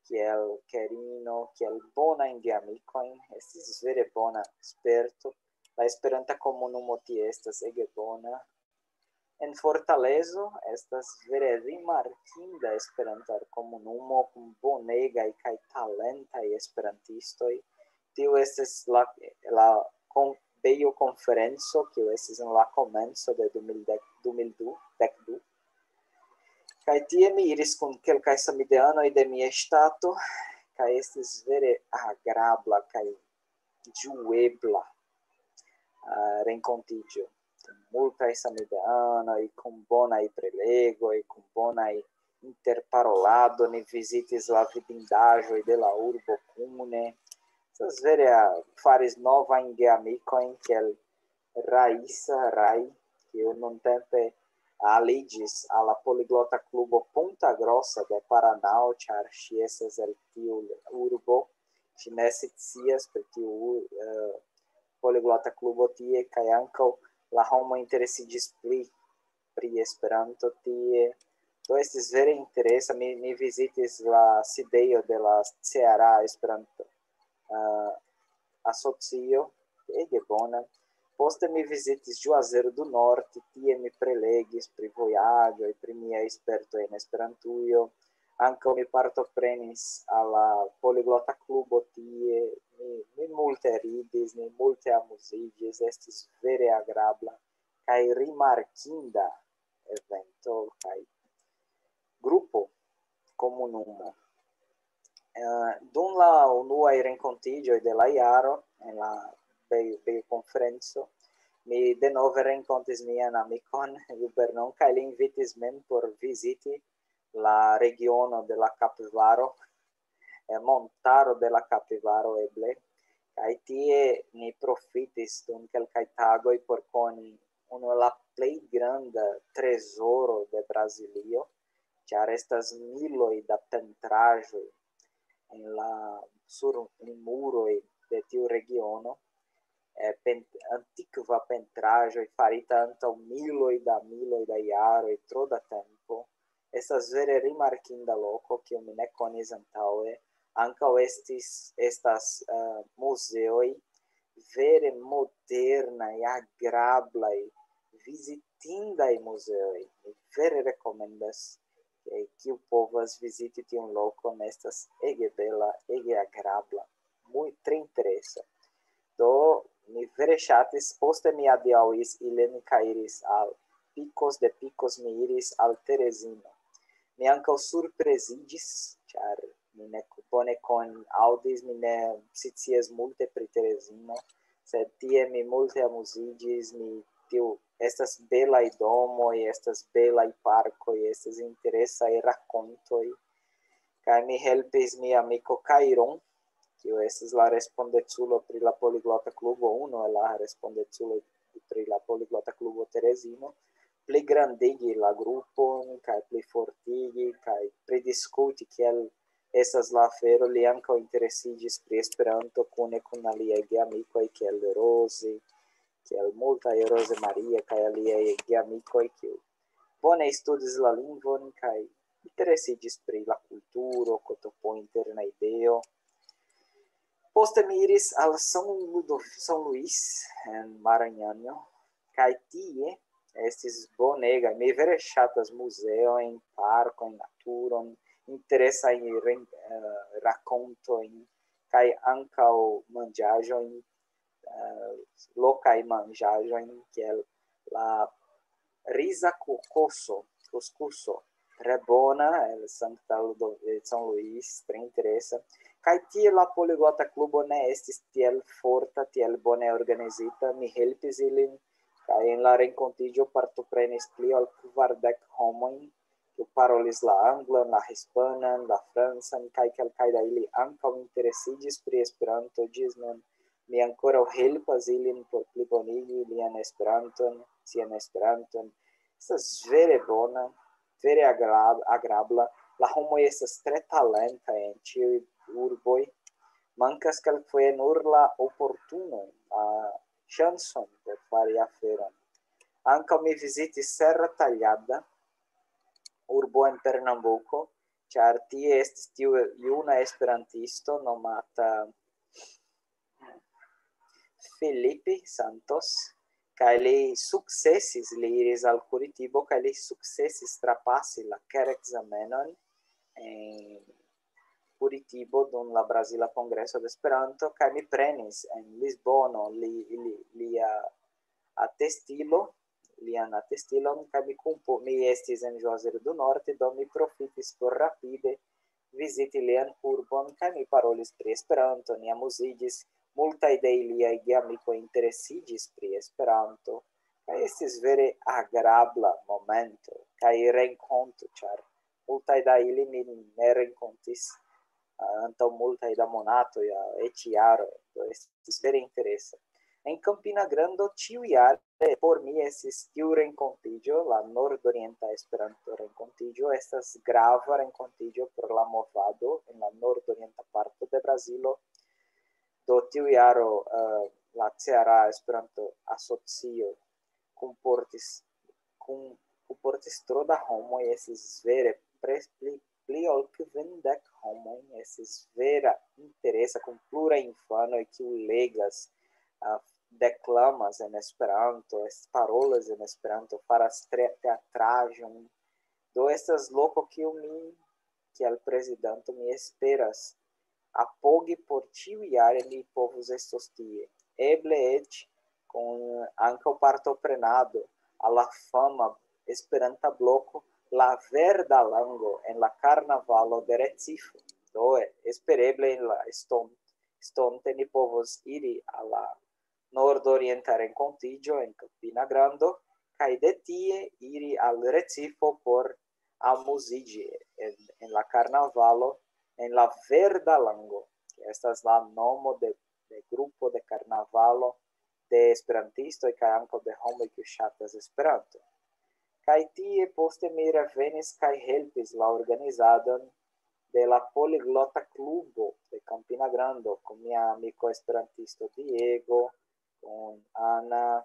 kiel Kerino, kiel bonajn geamikojn. Estis vere bona sperto. La Esperanta komunumo tie estas ege bona. En Fortalezo estas vere rimarkinda Esperanta komunumo kun bonegaj kaj talentaj esperantistoj. Tiu estis la, la kon-, Bejo konferenco, kiu estis en la komenco de du mil dek, du mil du, dek du. Kaj tie mi iris kun kelkaj samideanoj de mia ŝtato, kaj estis vere agrabla kaj ĝuebla, ah, renkontiĝo. Multaj samideanoj kun bonaj prelegoj, kun bonaj interparolado, ni vizitis la vidindaĵoj de la urbo kune. Estas vere, ah, faris novajn geamikojn, kiel Raisa Rai, kiu nuntempe aliĝis al la poliglota klubo Ponta Grossa de Paranao, ĉar ŝi estas el tiu urbo. Ŝi ne scias pri tiu, eh, poliglota klubo tie, kaj ankaŭ la homo interesiĝis pli pri Esperanto tie. Do estis vere interesa. Mi, mi vizitis la sidejo de la Ceara Esperanto, eh, asocio, ege bona. Poste mi vizitis Juazeiro do Norte, tie mi prelegis pri vojaĝoj, pri mia sperto en Esperantujo. Ankaŭ mi partoprenis al la poliglota klubo tie. Mi, mi multe ridis, mi multe amuziĝis, estis vere agrabla kaj rimarkinda evento kaj grupo, komunumo. Eh, dum la unuaj renkontiĝoj de la jaro en la Bejo, Bejo konferenco, mi denove renkontis mian amikon Jubernon, kaj li invitis min por viziti la regiono de la Kapivaro, eh, montaro de la Kapivaro eble, kaj tie ni profitis dum kelkaj tagoj por koni unu el la plej granda trezoro de Brazilio, ĉar estas miloj da pentraĵoj en la, sur muroj de tiu regiono. eh, pent-, antikva pentraĵoj farita antaŭ miloj da miloj da jaroj, tro da tempo. Estas vere rimarkinda loko, kiu mi ne konis antaŭe. Ankaŭ estis, estas, eh, muzeoj vere modernaj, agrablaj, vizitindaj muzeoj. Mi vere rekomendas, eh, kiu povas viziti tiun lokon, estas ege bela, ege agrabla, muy tre interesa. Do, mi vere ŝatis, poste mi adiaŭis ilin kaj iris al Picos, de Picos mi iris al Terezino. Mi ankaŭ surpreziĝis, ĉar mi ne bone kon-, aŭdis, mi ne scias multe pri Terezino, sed tie mi multe amuziĝis, mi tiu, estas belaj domoj, estas belaj parkoj, estas interesaj rakontoj. Kaj mi helpis mia amiko Kairon, kiu estis la respondeculo pri la Poliglota Klubo, unu el la respondeculoj pri la Poliglota Klubo Terezino, pli grandigi la grupon, kaj pli fortigi, kaj pridiskuti, kiel estas la afero. Li ankaŭ interesiĝis pri Esperanto kune kun aliaj geamikoj, kiel Rosi, kiel multaj Rose Maria, kaj aliaj geamikoj, kiu bone studis la lingvon, kaj interesiĝis pri la kulturo, kotopo interna ideo. Poste mi iris al San Ludo-, San Luis en Maranhano, kaj tie estis bonega. Mi vere ŝatas muzeojn, parkojn, naturon, interesajn ren-, eh, rakontojn, kaj ankaŭ manĝaĵojn, eh, lokaj manĝaĵojn, kiel la riza kokoso, kuskuso, tre bona, el Sankta Ludo-, el San Luis, tre interesa. Kaj tie la Poliglota Klubo ne estis tiel forta, tiel bone organizita. Mi helpis ilin, kaj en la renkontiĝo partoprenis pli ol kvardek homojn, kiu parolis la anglan, la hispanan, la francan, kaj kelkaj da ili ankaŭ interesiĝis pri Esperanto ĝis nun. Mi ankoraŭ helpas ilin por plibonigi lian Esperanton, sian Esperanton. Estas vere bona, vere agra-, agrabla. La homoj estas tre talentaj en ĉiuj urboj. Mankas kelkfoje nur la oportuno, la ŝancon por fari aferon. Ankaŭ mi vizitis Serra Talhada, urbo en Pernambuko, ĉar tie estis tiu juna esperantisto nomata Felipe Santos, kaj li sukcesis, li iris al Curitibo, kaj li sukcesis trapasi la kerekzamenon en Curitibo dum la Brazila Kongreso de Esperanto, kaj mi prenis en Lisbono li, li, lia atestilo, lian atestilon, kaj mi kunpo-, mi estis en Juazeiro do Norte, do mi profitis por rapide viziti lian urbon, kaj mi parolis pri Esperanto, ni amuziĝis, multaj de iliaj geamikoj interesiĝis pri Esperanto, kaj estis vere agrabla momento, kaj renkonto, ĉar multaj da ili mi ne renkontis, ah, antaŭ multaj da monatoj, ah, eĉ jaroj. Do estis vere interesa. En Campina Grando ĉiujare por mi estis tiu renkontiĝo, la nordorienta Esperanto-renkontiĝo, estas grava renkontiĝo por la movado en la nordorienta parto de Brazilo. Do tiu jaro, eh, la Ceara Esperanto-Asocio kunportis, kun-, kunportis tro da homoj, estis vere pres-, pli, pli ol kvindek homoj, estis vera interesa kun pluraj infanoj, kiu legas, ah, deklamas en Esperanto, es-, parolas en Esperanto, faras tre-, teatraĵon. Do estas loko, kiu mi, kiel prezidanto, mi esperas apogi por ĉiujare mi povus estos tie. Eble eĉ kun ankaŭ partoprenado al la fama Esperanta bloko La Verda Lango en la karnavalo de Recifo. Do, espereble en la eston-, estonte ni povos iri al la nordorienta renkontiĝo en Campina Grando, kaj de tie iri al Recifo por amuziĝi en, en la karnavalo, en La Verda Lango, ke estas la nomo de, de grupo de karnavalo de esperantistoj kaj ankaŭ de homoj, kiuj ŝatas Esperanto. Kaj tie poste mi revenis kaj helpis la organizadon de la Poliglota Klubo de Campina Grando kun mia amiko esperantisto Diego, kun Ana,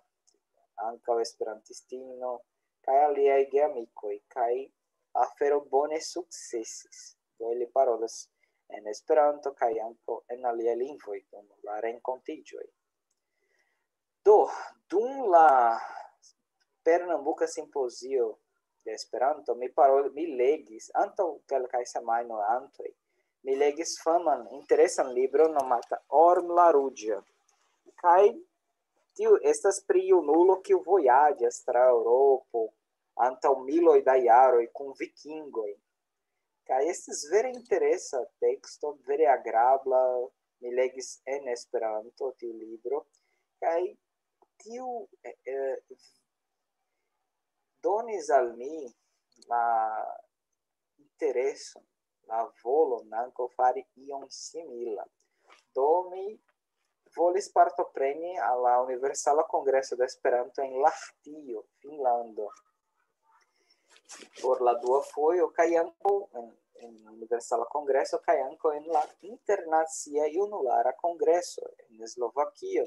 ankaŭ esperantistino, kaj aliaj geamikoj, kaj afero bone sukcesis. Do ili parolas en Esperanto kaj ankaŭ en aliaj lingvoj dum la renkontiĝoj. Do, dum la Pernambuka Simpozio de Esperanto, mi parol-, mi legis, antaŭ kelkaj semajnoj antoj, mi legis faman, interesan libron nomata Orm la Ruĝa. Kaj tiu estas pri junulo, kiu vojaĝas tra Eŭropo antaŭ miloj da jaroj kun vikingoj. Kaj estis vere interesa teksto, vere agrabla. Mi legis en Esperanto tiu libro. Kaj tiu, eh, eh, donis al mi la intereson, la volon ankaŭ fari ion simila. Do mi volis partopreni al la Universala Kongreso de Esperanto en Lahtio, Finnlando, por la dua fojo, kaj ankaŭ en, en Universala Kongreso, kaj ankaŭ en la Internacia Junulara Kongreso en Slovakio.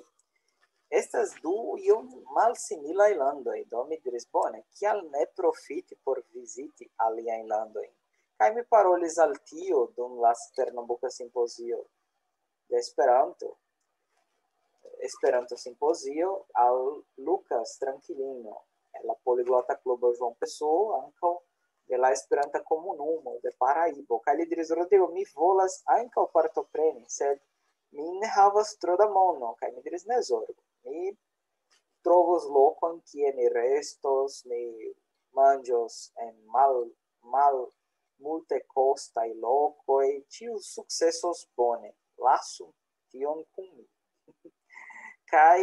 Estas du iom malsimilaj landoj, do mi diris: "Bone, kial ne profiti por viziti aliajn landojn?" Kaj mi parolis al tio dum la Pernambuka Simpozio de Esperanto, Esperanto Simpozio, al Lucas Trankilino, el la Poliglota Klubo João Pessoa, ankaŭ de la Esperanta Komunumo de Paraibo. Kaj li diris: "Rodrigo, mi volas ankaŭ partopreni, sed mi ne havas tro da mono." Kaj mi diris: "Ne zorgu, mi trovos lokon, kie ni restos, ni manĝos en mal-, mal-, multekostaj lokoj, ĉiu sukcesos bone. Lasu tion kun mi." Kaj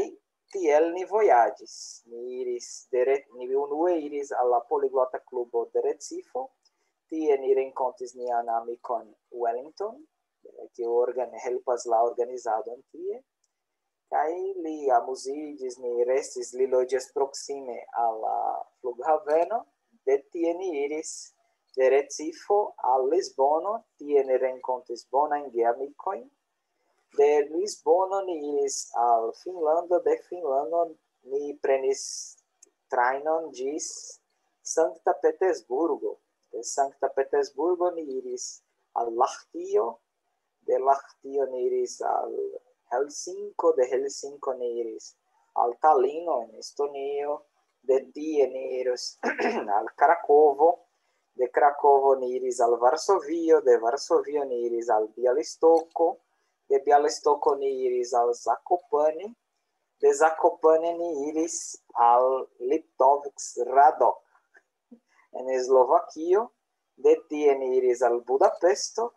tiel ni vojaĝis. Ni iris de Re-, ni unue iris al la Poliglota Klubo de Recife. Tie ni renkontis nian amikon Wellington, kiu organ-, helpas la organizadon tie. Kaj li amuziĝis, ni restis, li loĝas proksime al la flughaveno. De tie ni iris de Recife al Lisbono, tie ni renkontis bonajn geamikojn. De Lisbono ni iris al Finnlando, de Finnlando ni prenis trajnon ĝis Sankta Petersburgo. De Sankta Petersburgo ni iris al Lahtio, de Lahtio ni iris al Helsinko, de Helsinko ni iris al Talino en Estonio, de tie ni iris al Krakovo, de Krakovo ni iris al Varsovio, de Varsovio ni iris al Bialystoko, de Bialystoko ni iris al Zakopane, de Zakopane ni iris al Liptovsk Radok en Slovakio, de tie ni iris al Budapesto,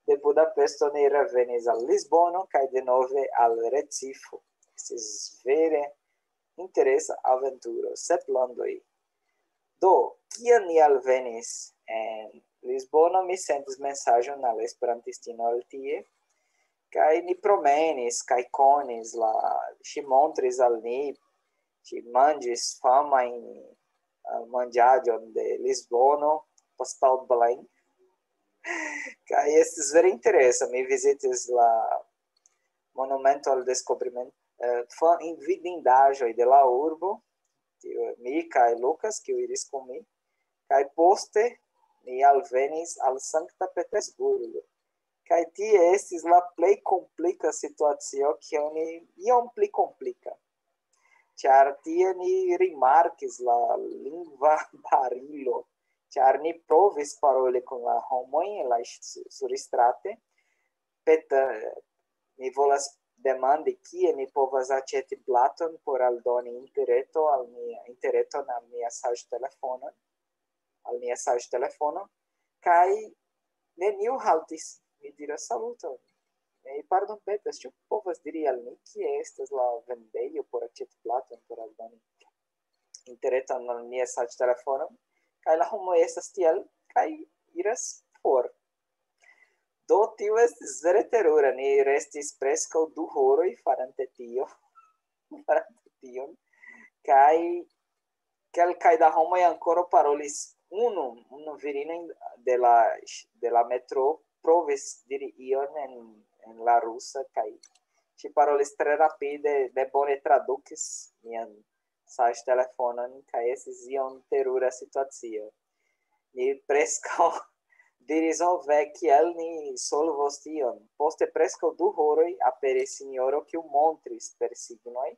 de Budapesto ni revenis al Lisbono kaj denove al Recife. Estis vere interesa aventuro, sep landoj. Do, kiam ni alvenis en Lisbono, mi sendis mesaĝon al esperantistino el tie, kaj ni promenis kaj konis la, ŝi montris al ni, ŝi manĝis famajn, eh, manĝaĵon de Lisbono, pastelblanc. Kaj estis vere interesa. Mi vizitis la Monumento al Descobrimento, eh, fa-, in-, vidindaĵoj de la urbo, tiu, mi kaj Lucas, kiu iris kun mi, kaj poste ni alvenis al Sankta Petersburgo. Kaj tie estis la plej komplika situacio, kiel ni, iom pli komplika. Ĉar tie ni rimarkis la lingva barilo, ĉar ni provis paroli kun la homoj en la ŝ-, surstrate. Pet-, mi volas demandi, kie ni povas aĉeti platon por aldoni interreto al mia, interreton al mia saĝtelefonon, al mia saĝtelefono, kaj neniu haltis. Mi diras: "Saluton. Mi pardonpetas, ĉu povas diri al mi, kie estas la vendejo por aĉeti platon por aldoni interreton al mia saĝtelefono?" Kaj la homoj estas tiel, kaj iras for. Do, tio estis vere terura. Ni restis preskaŭ du horoj farante tio, farante tion. Kaj kelkaj da homoj ankoraŭ parolis. Unu, unu virino de la, de la metro provis diri ion en, en la rusa, kaj ŝi parolis tre rapide, ne bone tradukis mian saĝtelefonon, kaj estis iom terura situacio. Ni preskaŭ diris: "Ho ve, kiel ni solvos tion?" Poste preskaŭ du horoj aperis sinjoro, kiu montris per signoj,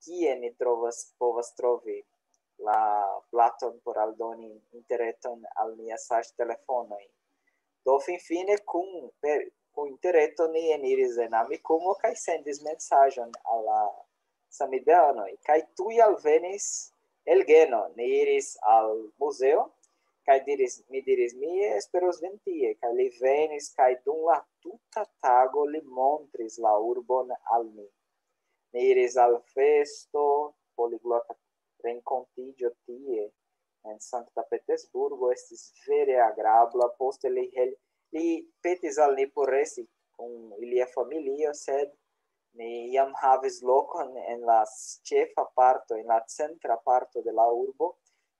kie ni trovas, povas trovi la platon por aldoni interreton al nia saĝtelefonoj. Do finfine kun, per, kun interreto ni eniris en Amikumu kaj sendis mesaĝon al la samideanoj. Kaj tuj alvenis el Geno. Ni iris al muzeo, kaj diris, mi diris: "Mi esperos vin tie." Kaj li venis, kaj dum la tuta tago li montris la urbon al mi. Ni iris al festo, poliglota renkontiĝo tie, en Sankta Petersburgo, estis vere agrabla. Poste li hel-, li petis al ni por resti kun ilia familio, sed ni jam havis lokon en la s-, ĉefa parto, en la centra parto de la urbo,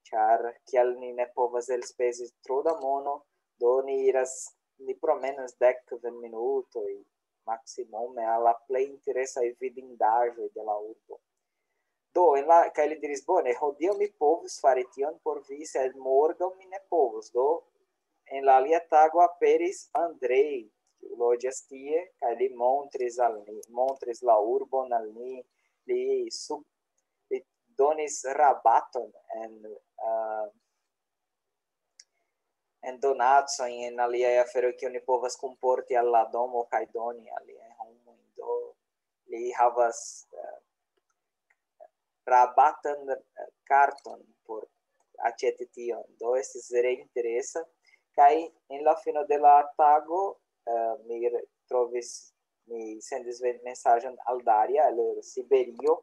ĉar kiel ni ne povas elspezi tro da mono, do ni iras, ni promenas dek kvin minutoj maksimume al la plej interesaj vidindaĵoj de la urbo. Do, en la, kaj li diris: "Bone, hodiaŭ mi povus fari tion por vi, sed morgaŭ mi ne povus." Do, en la alia tago aperis Andrei, kiu loĝas tie, kaj li montris al ni, montris la urbon al ni, li sub-, li donis rabaton en, eh, en donacojn, en aliaj aferoj, kiun ni povas kunporti al la domo kaj doni aliaj homoj. Do, li havas, eh, rabatan, eh, karton por aĉeti tion. Do, estis vere interesa. Kaj en la fino de la tago, eh, mi re-, trovis, mi sendis ve-, mesaĝon al Daria el Siberio.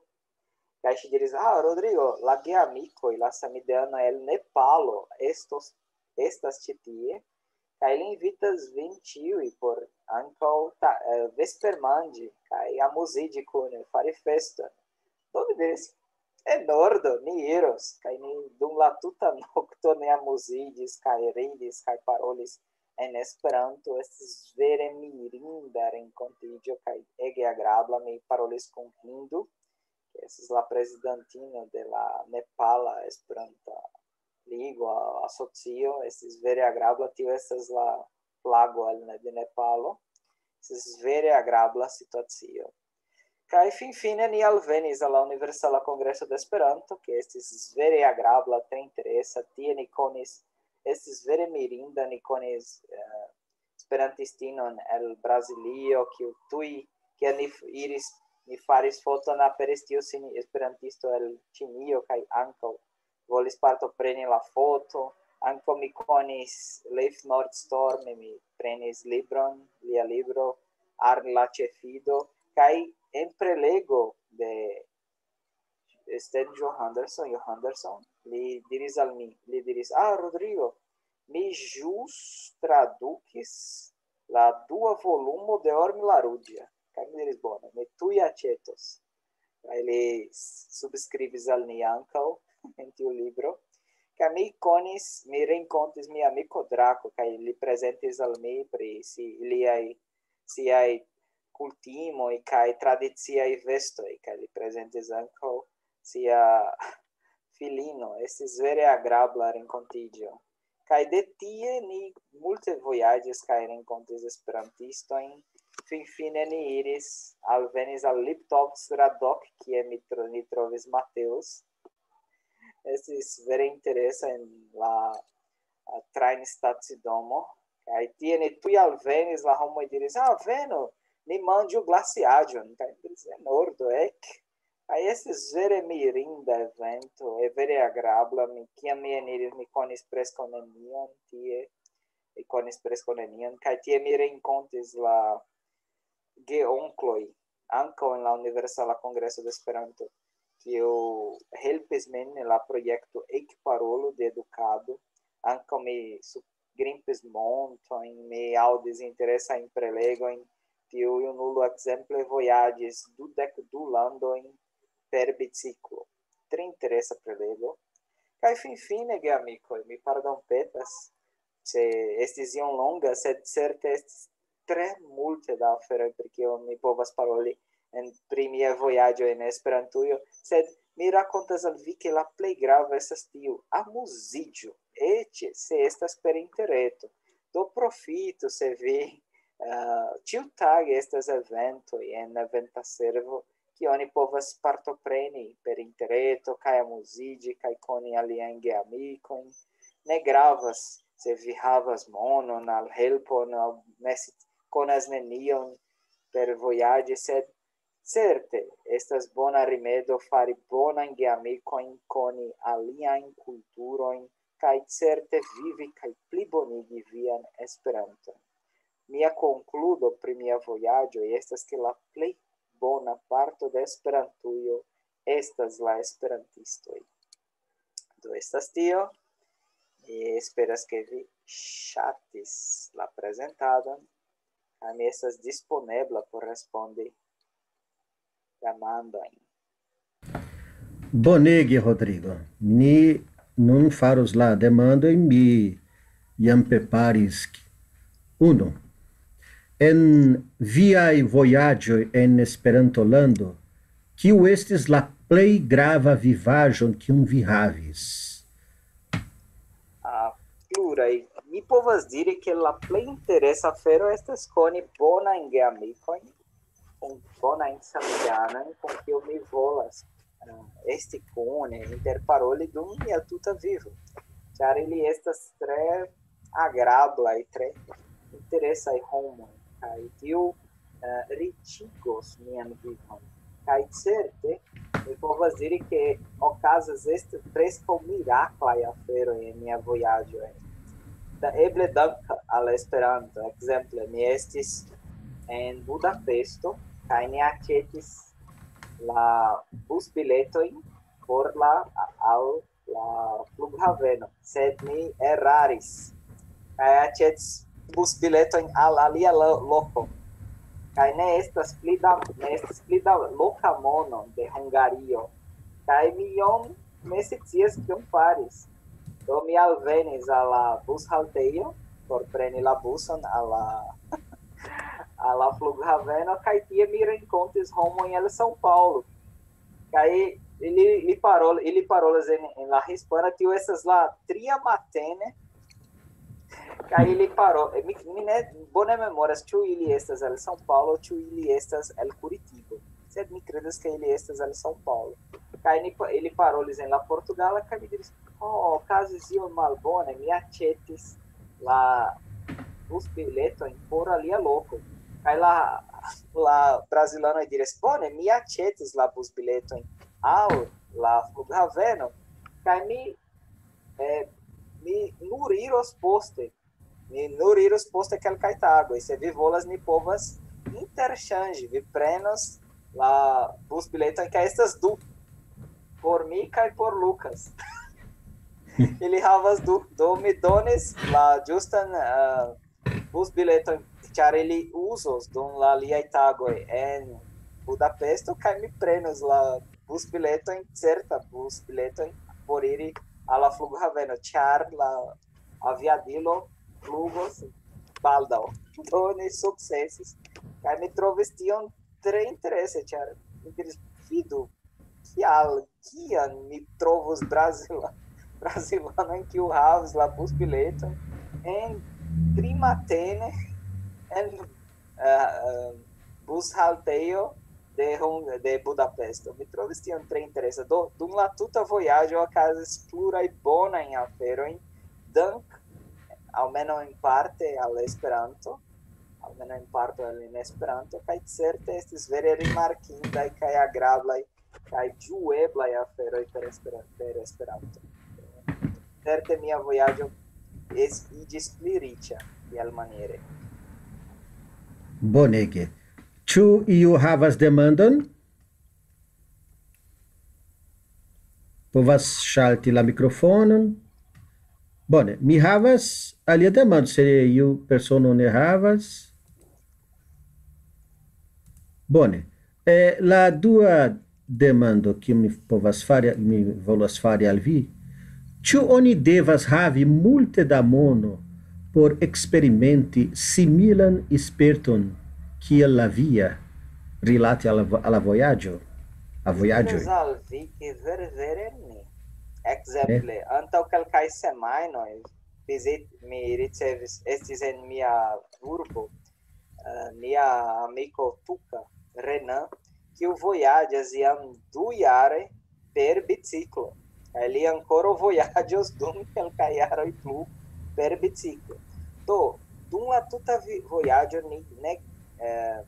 Kaj ŝi diris: "Ah, Rodrigo, la geamikoj, la samideanoj el Nepalo estos, estas ĉi tie, kaj li invitas vin ĉiuj por ankaŭ ta-, eh, vespermanĝi kaj amuziĝi kune, fari feston." Do mi diris: "En ordo, ni iros." Kaj ni dum la tuta nokto ni amuziĝis kaj ridis kaj parolis en Esperanto. Estis vere mirinda renkontiĝo kaj ege agrabla. Mi parolis kun Hindu, kiu estas la prezidantino de la Nepala Esperanta Ligo, asocio. Estis vere agrabla. Tio estas la flago el Ne-, de Nepalo. Estis vere agrabla situacio. Kaj finfine ni alvenis al la Universala Kongreso de Esperanto, kiu estis vere agrabla, tre interesa. Tie ni konis, estis vere mirinda, ni konis, eh, esperantistinon el Brazilio, kiu tuj, kiam ni f-, iris, ni faris foton, aperis tiu sin esperantisto el Ĉinio kaj ankaŭ volis partopreni la foto. Ankaŭ mi konis Leif Nordstorm, mi prenis libron, lia libro, Arn la Ĉefido, kaj en prelego de Sten Johanderson, Johanderson, li diris al mi, li diris: "Ah, Rodrigo, mi ĵus tradukis la dua volumo de Ormi la Ruĝa." Kaj mi diris: "Bone, mi tuj aĉetos." Kaj li s-, subskribis al ni ankaŭ en tiu libro. Kaj mi konis, mi renkontis mia amiko Drako, kaj li prezentis al mi pri si-, liaj, siaj kultimoj kaj tradiciaj vestoj, kaj li prezentis ankaŭ sia filino. Estis vere agrabla renkontiĝo. Kaj de tie ni multe vojaĝis kaj renkontis esperantistojn. Finfine ni iris, alvenis al Liptovsk Radok, kie mi tro-, ni trovis Mateus. Estis vere interesa en la, a, trajnstacidomo. Kaj tie ni tuj alvenis, la homoj diris: "Ah, venu, ni manĝu glasiaĵon." Kaj mi diris: "En ordo, ek." Kaj estis vere mirinda evento, e, vere agrabla. Mi, kiam mi eniris, mi konis preskaŭ nenion tie. Mi konis preskaŭ nenion. Kaj tie mi renkontis la geonkloj, ankaŭ en la Universala Kongreso de Esperanto, kiu helpis min en la projekto Ekparolo de Edukado. Ankaŭ mi su-, grimpis montojn, mi aŭdis interesajn prelegojn. Tiu junulo ekzemple vojaĝis dudek du landojn per biciklo. Tre interesa prelego. Kaj finfine, geamikoj, mi pardonpetas, se estis iom longa, sed certe estis tre multe da aferoj, pri kio mi povas paroli en, pri mia vojaĝo en Esperantujo, sed mi rakontas al vi, ke la plej grava estas tiu: amuziĝu, eĉ se estas per interreto. Do profitu, se vi, eh, ĉiutage estas eventoj en eventa servo, kie oni povas partopreni per interreto kaj amuziĝi kaj koni aliajn geamikojn. Ne gravas se vi havas monon al helpon, aŭ ne si-, konas nenion per vojaĝi, sed certe estas bona rimedo fari bonajn geamikojn, koni aliajn kulturojn, kaj certe vivi kaj plibonigi vian Esperanton. Mia konkludo pri mia vojaĝo estas, ke la plej bona parto de Esperantujo estas la esperantistoj. Do estas tio. Mi esperas, ke vi ŝatis la prezentadon, kaj mi estas disponebla por respondi demandojn. Bonege, Rodrigo. Ni nun faros la demandojn, mi jam preparis unu. En viaj vojaĝoj en Esperanto-lando, kiu estis la plej grava vivaĵon, kiun vi havis? Ah, pluraj. Mi povas diri, ke la plej interesa afero estas koni bonajn geamikojn, kun bonajn samideanojn, kun kiu mi volas, eh, esti kune, interparoli dum mia tuta vivo. Ĉar ili estas tre agrablaj, tre interesaj homoj, kaj tio, eh, riĉigos mian vivon. Kaj certe, mi povas diri, ke okazas esti preskaŭ miraklaj aferoj en mia vojaĝo. Da, eble dank al Esperanto. Ekzemple, mi estis en Budapesto, kaj ni aĉetis la busbiletojn por la, al la flughaveno, sed mi eraris. Kaj aĉetis busbiletojn al alia lo-, loko. Kaj ne estas pli da, ne estas pli da loka mono de Hungario. Kaj mi iom ne scias kion faris. Do mi alvenis al la bushaltejo por preni la buson al la, al la flughaveno, kaj tie mi renkontis homojn el São Paulo. Kaj ili, ili parol-, ili parolas en, en la hispana, tio estas la tria matene. Kaj ili paro-, mi, mi ne bone memoras, ĉu ili estas el São Paulo, ĉu ili estas el Curitiba. Sed mi kredas, ke ili estas el São Paulo. Kaj ni pa-, ili parolis en la portugala, kaj mi diris: "Oh, okazis iom malbone, mi aĉetis la busbiletojn por alia loko." Kaj la, la brazilanoj diris: "Bone, mi aĉetis la busbiletojn al la flughaveno." Kaj mi, eh, mi nur iros poste. Mi nur iros poste kelkaj tagoj. Se vi volas, ni povas interŝanĝi. Vi prenos la busbiletojn, kaj estas du. Por mi kaj por Lucas. Ili havas du. Do mi donis la ĝustan, eh, busbileton, ĉar ili uzos dum la aliaj tagoj en Budapesto, kaj mi prenos la busbiletojn, certa busbiletojn, por iri al la flughaveno, ĉar la aviadilo flugos baldaŭ. Do ni sukcesis. Kaj mi trovis tion tre interese, ĉar mi diris: "Vidu, kial, kian mi trovos Brazila-, brazilanon, kiu havis la busbileton en tri matene en, eh, eh, bushaltejo de Hung-, de Budapesto." Mi trovis tion tre interesa. Do, dum la tuta vojaĝo okazis pluraj bonajn aferojn, dank, almenaŭ en parte, al Esperanto, almenaŭ en parto al en Esperanto, kaj certe estis vere rimarkindaj kaj agrablaj kaj ĝueblaj aferoj per Esperan-, per Esperanto. Certe mia vojaĝo es-, iĝis pli riĉa, tialmaniere. Bonege. Ĉu iu havas demandon? Povas ŝalti la mikrofonon. Bone, mi havas alia demando, se iu persono ne havas. Bone. Eh, la dua demando, kiu mi povas fari, mi volas fari al vi. Ĉu oni devas havi multe da mono por eksperimenti similan sperton kiel la via rilate al la vo-, al la vojaĝo, a vojaĝoj? Al vi, ke vere, vere mi. Ekzemple, antaŭ kelkaj semajnoj vizit-, mi ricevis, estis en mia urbo, eh, nia amiko Tuka, Renan, kiu vojaĝas jam dujare per biciklo. Kaj li ankoraŭ vojaĝos dum kelkaj jaroj plu per biciklo. Do, dum la tuta vi-, vojaĝo ni ne, eh,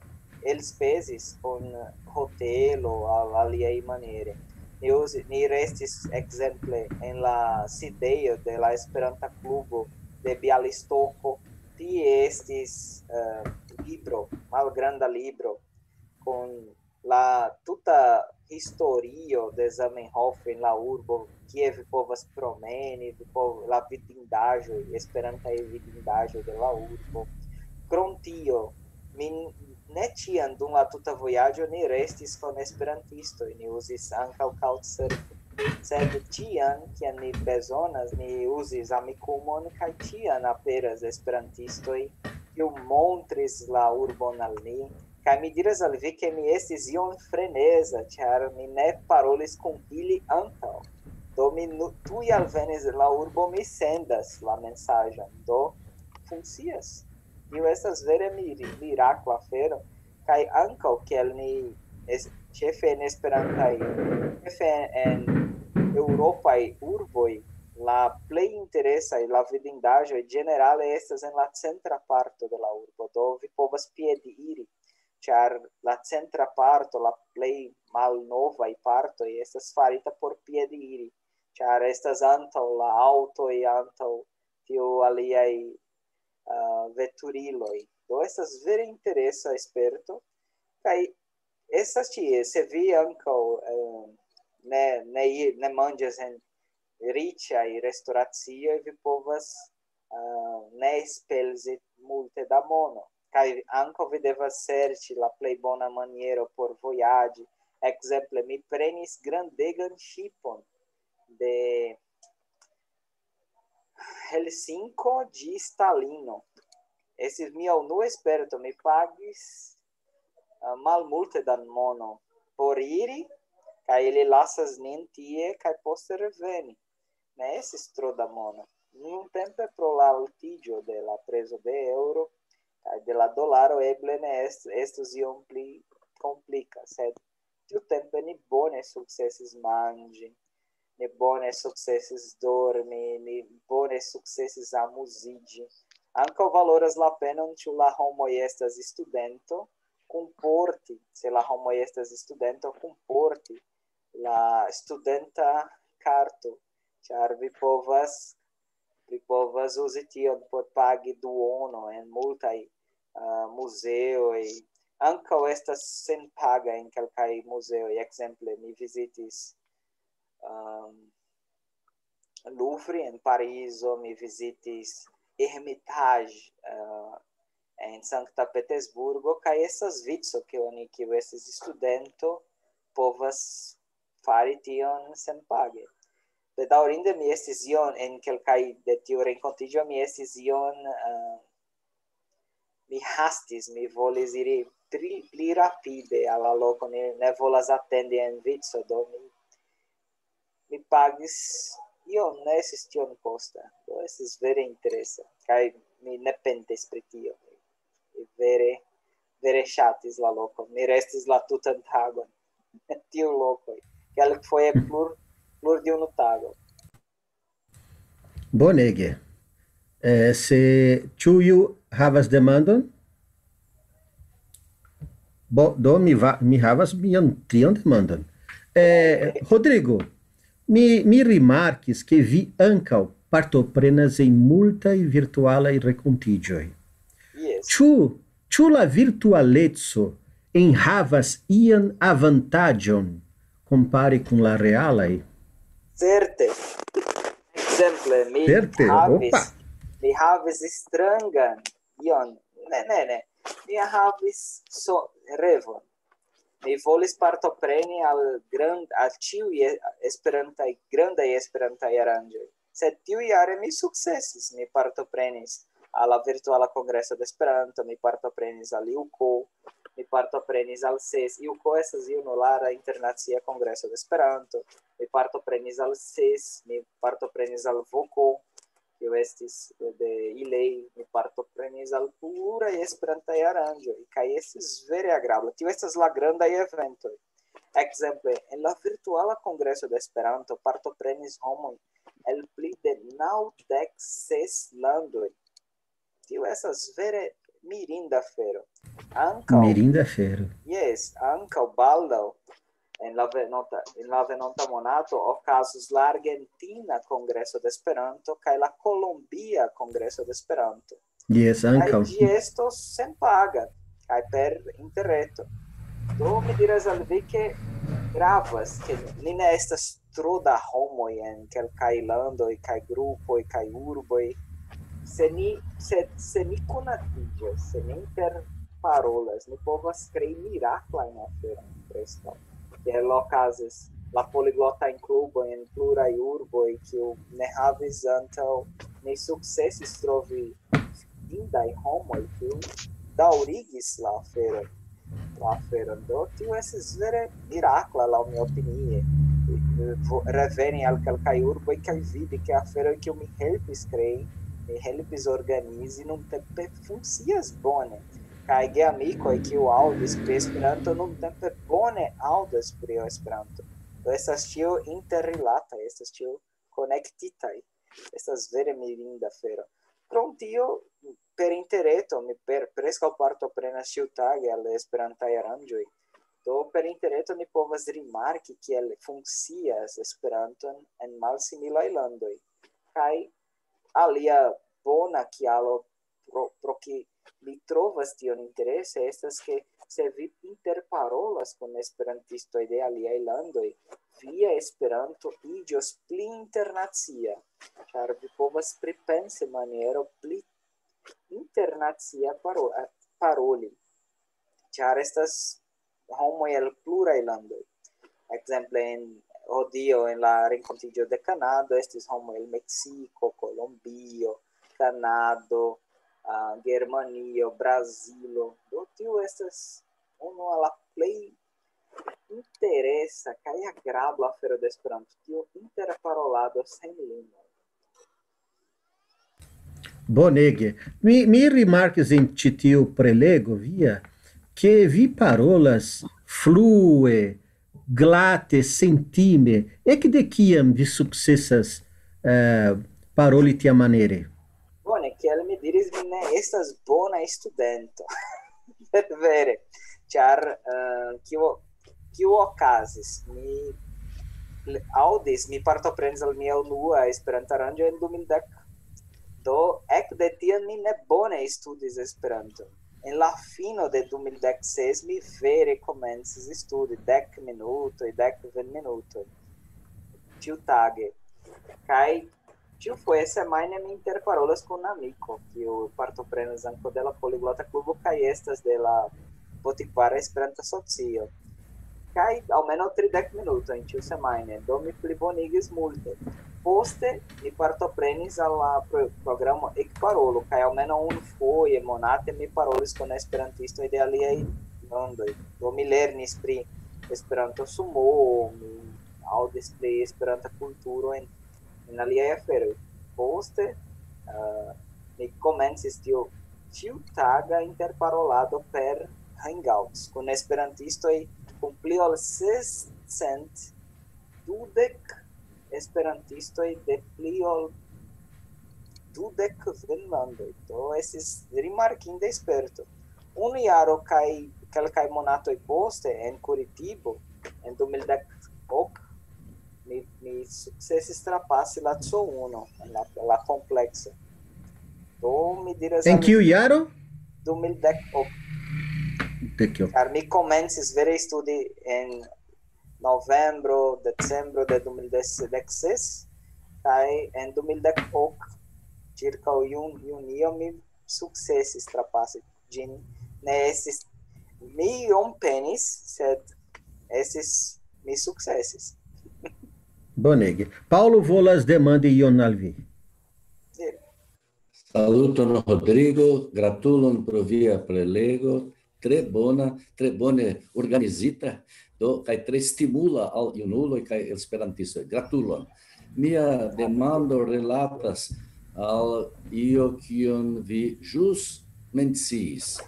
elspezis kun hotelo aŭ aliaj maniere. Ni uzi-, ni restis ekzemple en la sidejo de la Esperanta klubo de Bialystoko. Tie estis, eh, libro, malgranda libro, kun la tuta historio de Zamenhof en la urbo, kie vi povas promeni, vi pov-, la vidindaĵoj, esperantaj vidindaĵoj de la urbo. Krom tio, mi ne ĉiam dum la tuta vojaĝo ni restis kun esperantistoj, ni uzis ankaŭ Couchsurfing. Sed ĉiam, kiam ni bezonas, ni uzis Amikumon, kaj ĉiam aperas esperantistoj, kiu montris la urbon al ni. Kaj mi diras al vi, ke mi estis iom freneza, ĉar mi ne parolis kun ili antaŭ. Do mi nu-, tuj alvenis la urbo, mi sendas la mesaĝon. Do funkcias. Tio estas vere miri-, mirakla afero. Kaj ankaŭ kiel ni es-, ĉefe en esperantaj, ĉefe en eŭropaj urboj, la plej interesaj, la vidindaĵoj ĝenerale estas en la centra parto de la urbo. Do vi povas piedi iri, ĉar la centra parto, la plej malnovaj partoj estas farita por piedi iri, ĉar estas antaŭ la aŭtoj, antaŭ tiu aliaj, eh, veturiloj. Do estas vere interesa sperto, kaj estas ĉie, se vi ankaŭ, eh, ne, ne, ne manĝas en riĉaj restoracioj, vi povas, eh, ne spezi multe da mono. Kaj ankaŭ vi devas serĉi la plej bona maniero por vojaĝi. Ekzemple, mi prenis grandegan ŝipon de Helsinko ĝis Talino. Estis mia unua sperto, mi pagis, eh, malmulte da mono por iri, kaj ili lasas nin tie, kaj poste reveni. Ne estis tro da mono. Nuntempe pro la altiĝo de la prezo de eŭro kaj de la dolaro eble ne est-, estus iom pli komplika, sed tiutempe ni bone sukcesis manĝi, ni bone sukcesis dormi, ni bone sukcesis amuziĝi. Ankaŭ valoras la penon, ĉu la homoj estas studento, kunporti, se la homoj estas studento, kunporti la studenta karto, ĉar vi povas, vi povas uzi tion por pagi duono en multaj, ah, muzeoj. Ankaŭ estas senpaga en kelkaj muzeoj. Ekzemple, mi vizitis, ehm, Louvre en Parizo, mi vizitis Hermitage, eh, en Sankta Petersburgo, kaj estas vico, ke oni, kiu estis studento, povas fari tion senpage. Bedaŭrinde mi estis ion en kelkaj de tiu renkontiĝo, mi estis ion, eh, mi hastis, mi volis iri pli, pli rapide al la loko, ne, ne volas atendi en vico, do mi, mi pagis iom, ne estis tiom kosta, do estis vere interesa, kaj mi ne pentis pri tio, mi, mi vere, vere ŝatis la lokon, mi restis la tutan tagon en tiu lokoj, kelkfoje plur, plur de unu tago. Bonege. Eh, se ĉu iu havas demandon? Bo, do mi va-, mi havas mian trian demandon. Eh, Rodrigo, mi, mi rimarkis, ke vi ankaŭ partoprenas en multaj virtualaj renkontiĝoj. Yes. Ĉu, ĉu la virtualeco enhavas ian avantaĝon kompare kun la realaj? Certe. Ekzemple, mi Certe, havis, opa. Mi havis strangan ion. Ne, ne, ne. Mi havis so revon. Mi volis partopreni al grand-, al ĉiuj e-, esperantaj, grandaj esperantaj aranĝoj. Sed tiujare mi sukcesis, mi partoprenis al la virtuala kongreso de Esperanto, mi partoprenis al juko, mi partoprenis al ses, juko estas junulara internacia kongreso de Esperanto, mi partoprenis al ses, mi partoprenis al voko, kiu estis de ilei, mi partoprenis al pluraj esperantaj aranĝoj, kaj estis vere agrabla. Tio estas la grandaj eventoj. Ekzemple, en la virtuala kongreso de Esperanto partoprenis homoj el pli de naŭdek ses landoj. Tio estas vere mirinda afero. Ankaŭ, Mirinda afero. Jes, ankaŭ baldaŭ en la venonta, en la venonta monato okazos la Argentina Kongreso de Esperanto kaj la Kolombia Kongreso de Esperanto. Jes, Kaj ankaŭ. Ĝi estos senpaga kaj per interreto. Do mi diras al vi, ke gravas, ke ni ne estas tro da homoj en kelkaj landoj kaj grupoj kaj urboj. Se ni, se, se ni konatiĝas, se ni interparolas, ni povas krei miraklajn aferojn preskaŭ. Kiel okazis la poliglotajn klubojn en pluraj urboj, kiu ne havis antaŭ, ni sukcesis trovi indaj homoj, kiu daŭrigis la aferon, la aferon. Do tio estis vere mirakla, laŭ mia opinie. Vo-, reveni al kelkaj urboj kaj vidi, ke aferoj, kiu mi helpis krei, mi helpis organizi, nuntempe funkcias bone. Kaj geamikoj, kiu aŭdis pri Esperanto, nuntempe bone aŭdas pri Esperanto. Do estas ĉio interrilata, estas ĉio konektitaj. Estas vere mirinda afero. Krom tio, per interreto mi per, preskaŭ partoprenas ĉiutage al Esperantaj aranĝoj. Do per interreto ni povas rimarki, kiel funkcias Esperanton en malsimilaj landoj. Kaj alia bona kialo pro, pro ki mi trovas tion interese estas, ke se vi interparolas kun esperantistoj de aliaj landoj, via Esperanto iĝos pli internacia, ĉar vi povas pripensi maniero pli internacia paro-, paroli, ĉar estas homoj el pluraj landoj. Ekzemple, en hodiaŭ en la renkontiĝo de Kanado estis homoj el Meksiko, Kolombio, Kanado, ah, Germanio, Brazilo. Do tio estas unu el la plej interesa kaj agrabla afero de Esperanto, tio interparolado sen limoj. Bonege. Mi, mi rimarkis en ĉi tiu prelego via, ke vi parolas flue, glate, sentime. Ekde kiam vi sukcesas, eh, paroli tiamaniere? Bone, kiel mi diris, mi ne estas bona studento. Vere, ĉar, eh, kio, kio okazis? Mi le-, aŭdis, mi partoprenis al mia unua Esperanto-aranĝo en du mil dek. Do, ekde tiam mi ne bone studis Esperanton. En la fino de du mil dek ses mi vere komencis studi dek minutoj, dek kvin minutoj ĉiutage. Kaj ĉiufoje semajne mi interparolas kun amiko, kiu partoprenas ankaŭ de la Poliglota Klubo kaj estas de la Botikvara Esperanta Socio. Kaj almenaŭ tridek minutojn ĉiusemajne, do mi plibonigis multe. Poste mi partoprenis al la pro-, programo Ekparolu, kaj almenaŭ unufoje monate mi parolis kun esperantistoj de aliaj landoj. Do mi lernis pri Esperanto Sumo, mi aŭdis pri Esperanta kulturo en, en aliaj aferoj. Poste, eh, mi komencis tio ĉiutaga interparolado per Hangouts kun esperantistoj, kun pli ol sescent dudek esperantistoj de pli ol dudek kvin landoj. Do estis rimarkinda sperto. Unu jaro kaj kelkaj monatoj poste en Curitibo, en du mil dek ok, mi, mi sukcesis trapasi la C uno en la, la komplekso. Do mi diras... En al kiu jaro? Du mil dek ok. Dek ok. Ĉar mi komencis vere studi en novembro, decembro de du mil dek ses, kaj en du mil dek ok, ĉirkaŭ jun-, junio, mi sukcesis trapasi ĝin. Ne estis, mi iom penis, sed estis, mi sukcesis. Bonege. Paŭlo volas demandi ion al vi. Diru. Saluton, Rodrigo. Gratulon pro via prelego. Tre bona, tre bone organizita, do, kaj tre stimula al junuloj kaj esperantistoj. Gratulon. Mia demando relatas al io, kion vi ĵus menciis.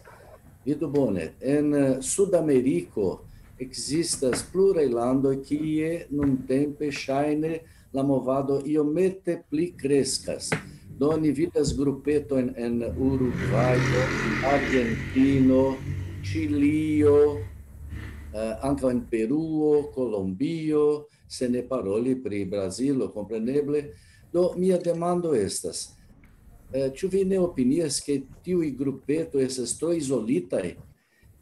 Vidu bone, en, eh, Sudameriko ekzistas pluraj landoj, kie nuntempe ŝajne la movado iomete pli kreskas. Do ni vidas grupetojn en Urugvajo, Argentino, Ĉilio, eh, ankaŭ en Peruo, Kolombio, se ne paroli pri Brazilo, kompreneble. Do mia demando estas, eh, ĉu vi ne opinias, ke tiuj grupetoj estas tro izolitaj,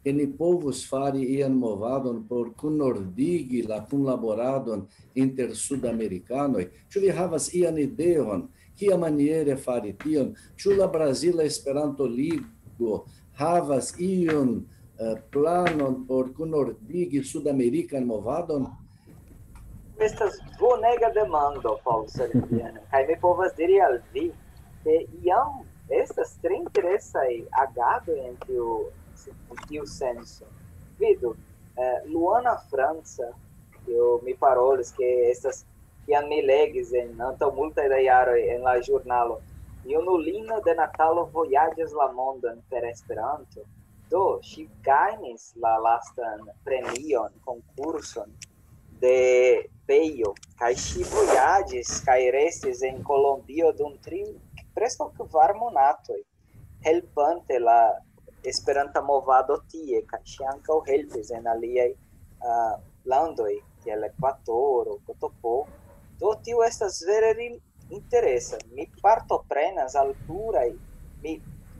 ke ni povus fari ian movadon por kunordigi la kunlaboradon inter sudamerikanoj? Ĉu vi havas ian ideon, kiamaniere fari tion? Ĉu la Brazila Esperanto-Ligo havas iun, eh, planon por kunordigi sudamerikan movadon? Estas bonega demando, Paul Sergian, kaj mi povas diri al vi, ke jam estas tre interesaj agadoj en tiu, en tiu senso. Vidu, eh, Luana Franca, kiu mi parolis, ke estas, kiam mi legis en, antaŭ multaj da jaroj en la ĵurnalo, junulino de Natalo vojaĝas la mondon per Esperanto. Do, ŝi gajnis la lastan premion, konkurson de Pejo, kaj ŝi vojaĝis kaj restis en Kolombio dum tri, preskaŭ kvar monatoj, helpante la Esperanta movado tie, kaj ŝi ankaŭ helpis en aliaj, ah, landoj, kiel Ekvatoro, Kotopo. Do, tio estas vere ri-, interesa. Mi partoprenas al pluraj. Mi,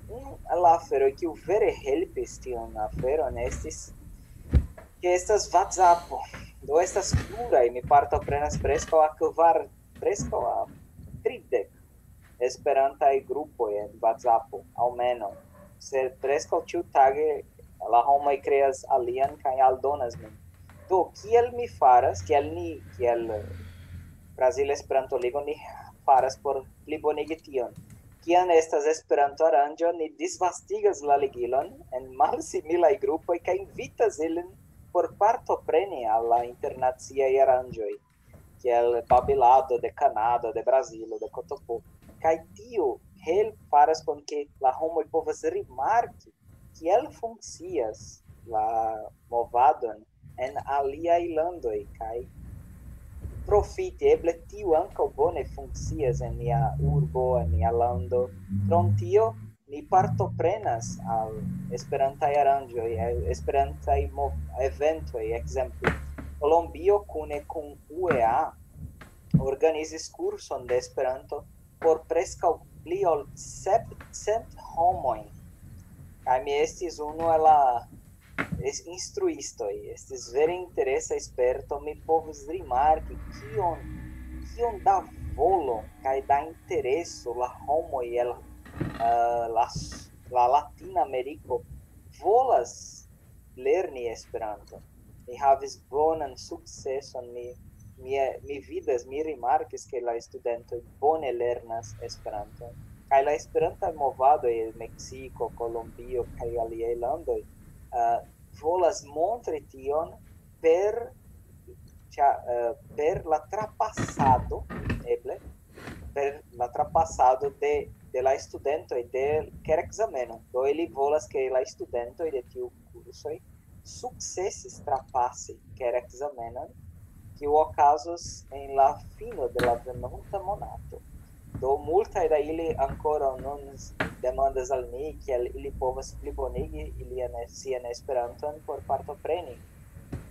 unu el la aferoj, kiu vere helpis tiun aferon, estis, ke estas WhatsAppo. Do, estas pluraj. Mi partoprenas preskaŭ a kvar, preskaŭ a tridek esperantaj grupoj en WhatsAppo, almenaŭ. Sed preskaŭ ĉiutage la homoj kreas alian kaj aldonas min. Do, kiel mi faras, kiel ni, kiel, eh, Brazila Esperanto-Ligo, ni faras por plibonigi tion? Kiam estas Esperanto-aranĝo, ni disvastigas la ligilon en malsimilaj grupoj kaj invitas ilin por partopreni al la internaciaj aranĝoj, kiel babilado de Kanado, de Brazilo, de Kotopo. Kaj tio help-, faras kon ke la homoj povas rimarki, kiel funkcias la movadon en aliaj landoj, kaj profiti, eble tio ankaŭ bone funkcias en nia urbo, en nia lando. Krom tio, ni partoprenas al esperantaj aranĝoj, al esperantaj mo-, eventoj, ekzemple, Kolombio kune kun U E A organizis kurson de Esperanto por preskaŭ pli ol sepcent homojn. Kaj mi estis unu el la es-, instruistoj. Estis vere interesa sperto. Mi povis rimarki, kion, kion da volo kaj da intereso la homoj el, eh, la s-, la Latina Ameriko volas lerni Esperanto. Mi havis bonan sukceson, mi, mi, mi vidas, mi rimarkis, ke la studentoj bone lernas Esperanton. Kaj la Esperanta movado en Meksiko, Kolombio kaj aliaj landoj, eh, volas montri tion per, ĉa-, eh, per la trapasado, eble, per la trapasado de, de la studentoj de kerekzameno. Do ili volas, ke la studentoj de tiu kursoj sukcesis trapasi kerekzamenon, kiu okazos en la fino de la venonta monato. Do multaj da ili ankoraŭ nun s-, demandas al mi, kiel ili povas plibonigi ilian, sian Esperanton por partopreni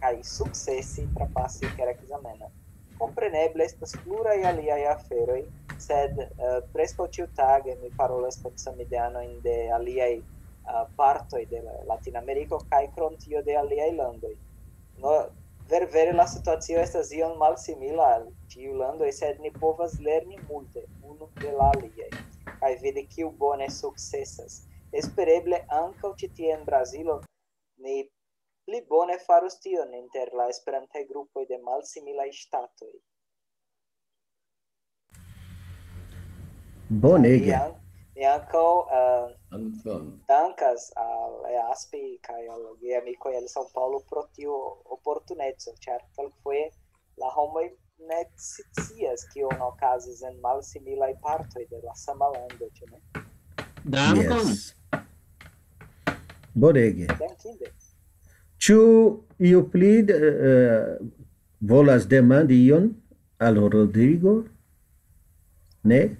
kaj sukcesi trapasi kerekzamenon. Kompreneble estas pluraj aliaj aferoj, sed, eh, preskaŭ ĉiutage mi parolas kun samideanojn de aliaj, eh, partoj de la Latinameriko kaj krom tio de aliaj landoj. No, ver-, vere la situacio estas iom malsimila al ĉiuj landoj, sed ni povas lerni multe unu de la aliaj kaj vidi, kiu bone sukcesas. Espereble ankaŭ ĉi tie en Brazilo ni pli bone farus tion inter la esperantaj grupoj de malsimilaj ŝtatoj. Bonege. Ian, Mi ankaŭ eh, Anton. dankas al Easpi kaj al geamikoj el São Paulo pro tiu oportuneco, ĉar kelkfoje la homoj ne scias, kio okazis en malsimilaj partoj de la sama lando, ĉu ne? Dankon. Yes. Bonege. Dankinde. Ĉu iu pli eh, volas demandi ion al Rodrigo? Ne?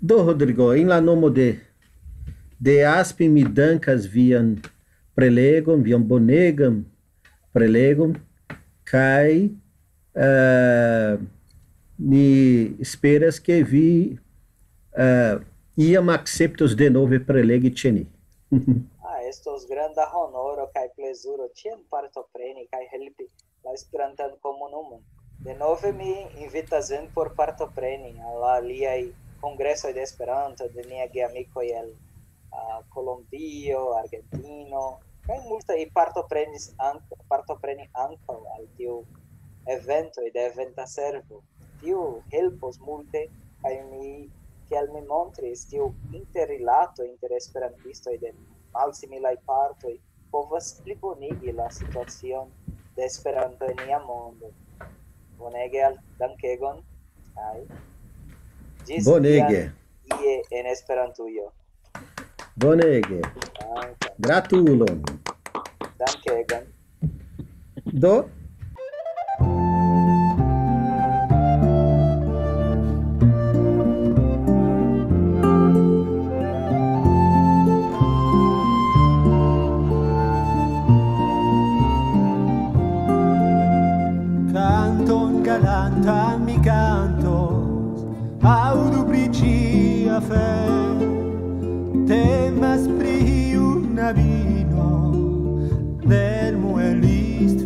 Do, Rodrigo, en la nomo de, de Aspi, mi dankas vian prelegon, vian bonegan prelegon, kaj eh, ni esperas, ke vi eh, iam akceptos denove prelegi ĉe ni. Ah, estos granda honoro kaj plezuro ĉiam partopreni kaj helpi la Esperantan komunumon. Denove mi invitas vin por partopreni al aliaj kongresoj de Esperanto de nia geamikoj el uh, Kolombio, Argentino, kaj multaj partoprenis ank partopreni ankaŭ al tiu eventoj de eventa servo. Tiu helpos multe, kaj mi, kiel mi montris, tiu interrilato inter esperantistoj de malsimilaj partoj povas plibonigi la situacion de Esperanto en nia mondo. Bonege, al dankegon. Kaj ĝis Bonege. Ie en Esperantujo. Bonege. Danke. Gratulon. Dankegon. Do, Canton galantan mi cantos, audu pri ĝia fe. Temas pri iu knabino del muelisto